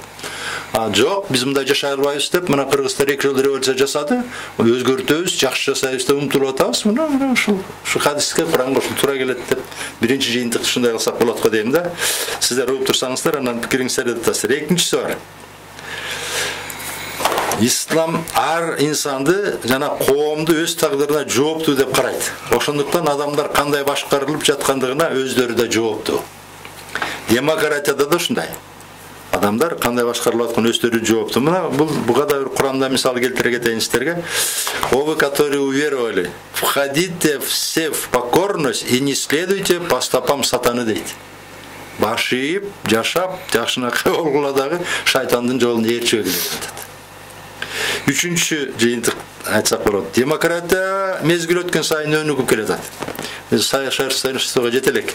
А жок, биз мындай жашай албайбыз деп, мына кыргыздар эки жыл революция жасады, өзгөртөбүз, жакшы жасайбыз деп умтулуп атабыз. Мына ушул ушул хадиске Куранга ушул туура келет деп биринчи жыйынтыкты ушундай кылсак болот го дейм да. Сиздер угуп турсаңыздар, анан пикириңиздерди айтасыздар. Экинчиси бар. Ислам ар инсанды жана коомду өз тагдырына жооптуу деп карайт. Ошондуктан адамдар кандай башкарылып жаткандыгына өздөрү да жооптуу. Демократияда да ушундай. Адамдар кандай башкарылып аткан өздөрү жооптуу. Мына бул буга да бир Куранда мисал келтире кетейин сиздерге. О вы, которые уверовали, входите все в покорность и не следуйте по стопам сатаны дейт. Баш ийип, жашап, жакшынакай болгула дагы шайтандын жолун ээрчибегиле деп атат. Үчүнчү жыйынтык айтсак болот. Демократия мезгил өткөн сайын өнүгүп келатат. совершенствого жете элек.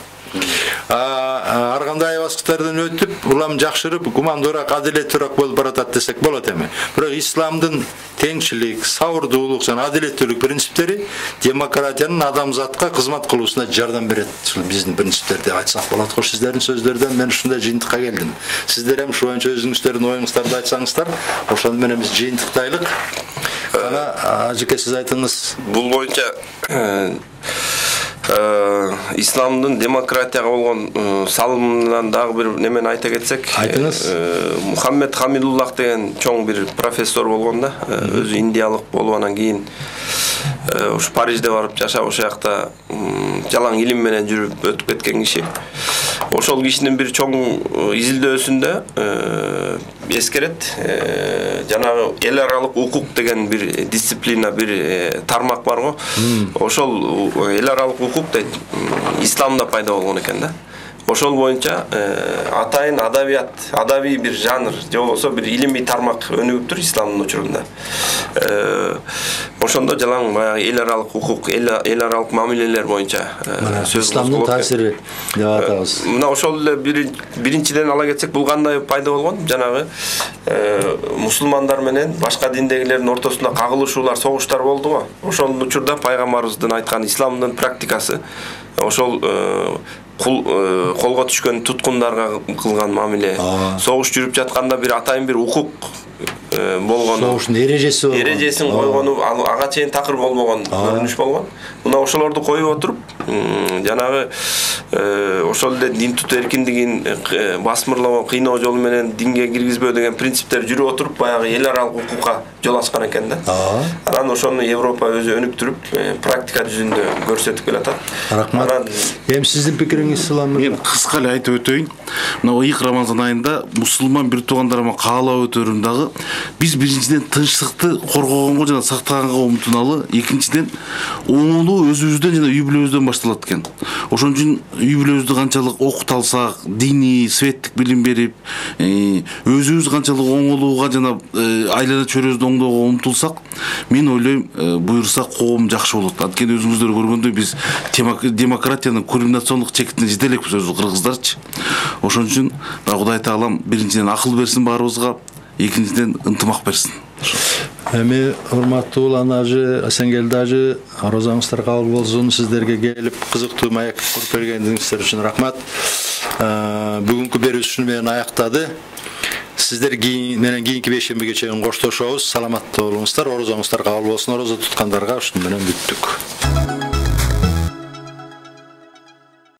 Ар кандай баскычтардан өтүп, улам жакшырып, гумандуураак, адилеттүүрөөк болуп баратат десек болот эми. Бирок исламдын теңчилик, сабырдуулук жана адилеттүүлүк принциптери демократиянын адамзатка кызмат кылуусуна жардам берет. Ушул биздин принциптер деп айтсак болот. Кош сиздердин сөздөрдөн мен ушундай жыйынтыкка келдим. Сиздер эми ушул боюнча өзүңүздөрдүн оюңуздарды айтсаңыздар, ошону менен биз жыйынтыктайлык. Ана ажыке сиз айтыңыз. Бул боюнча исламдын демократияга болгон салымынан дагы бир немени айта кетсек, айтыңыз. Мухаммед Хамидуллах деген чоң бир профессор болгон да, өзү индиялык болуп анан кийин ушу Парижде барып жашап, ошол жакта жалаң илим менен жүрүп өтүп кеткен киши. Ошол кишинин бир чоң изилдөөсүндө эскерет, жанагы эл аралык укук деген бир дисциплина, бир тармак бар го. Ошол эл аралык укук дейт, исламда пайда болгон экен да. Ошол боюнча атайын адабият, адабий бир жанр, же болбосо бир илимий тармак өнүгүптүр исламдын учурунда. Ошондо жалаң баягы эл аралык укук, эл аралык мамилелер боюнча сөз исламдын таасири деп атабыз. Мына ошол эле биринчиден ала кетсек, бул кандай пайда болгон? Жанагы мусулмандар менен башка диндегилердин ортосунда кагылышуулар, согуштар болду го. Ошол учурда пайгамбарыбыздын айткан исламдын практикасы ошол колго түшкөн туткундарга кылган мамиле, согуш жүрүп жатканда бир атайын бир укук болгону, согуштун эрежеси болгон, эрежесин койгону, ага чейин такыр болбогон көрүнүш болгон. Мына ошолорду коюп отуруп, жанагы ошол эле дин тутуу эркиндигин басмырлоо, кыйноо жолу менен динге киргизбөө деген принциптер жүрүп отуруп, баягы эл аралык укукка жол ачкан экен да. Анан ошону Европа өзү өнүктүрүп, практика жүзүндө көрсөтүп келатат. Рахмат. Эми сиздин пикириңиз Сулам? Мен кыска эле айтып өтөйүн. Мына ыйык Рамазан айында мусулман бир туугандарыма каалап өтөрүм дагы, биз биринчиден тынчтыкты коргогонго жана сактаганга умтуналы, экинчиден оңолуу өзүбүздөн жана үй бүлөбүздөн башталат экен. Ошон үчүн үй бүлөбүздү канчалык окута алсак, диний, светтик билим берип, өзүбүз канчалык оңолууга жана айлана чөйрөбүздү оңдоого умтулсак, мен ойлойм, буюрса коом жакшы болот. Анткени өзүңүздөр көргөндөй биз демократиянын кульминациондук чекитине жете элекпиз өзү кыргыздарчы. Ошон үчүн Кудай Таалам биринчиден акыл берсин баарыбызга, экинчиден ынтымак берсин. Эми урматтуу улан ажы, Асенгелди ажы, розаңыздар кабыл болсун. Сиздерге келип кызыктуу маек куруп бергениңиздер үчүн рахмат. Бүгүнкү берүүсүн менен аяктады. Сиздер менен кийинки бейшембиге чейин коштошобуз. Саламатта болуңуздар, розаңыздар кабыл болсун. Роза туткандарга ушун менен бүттүк.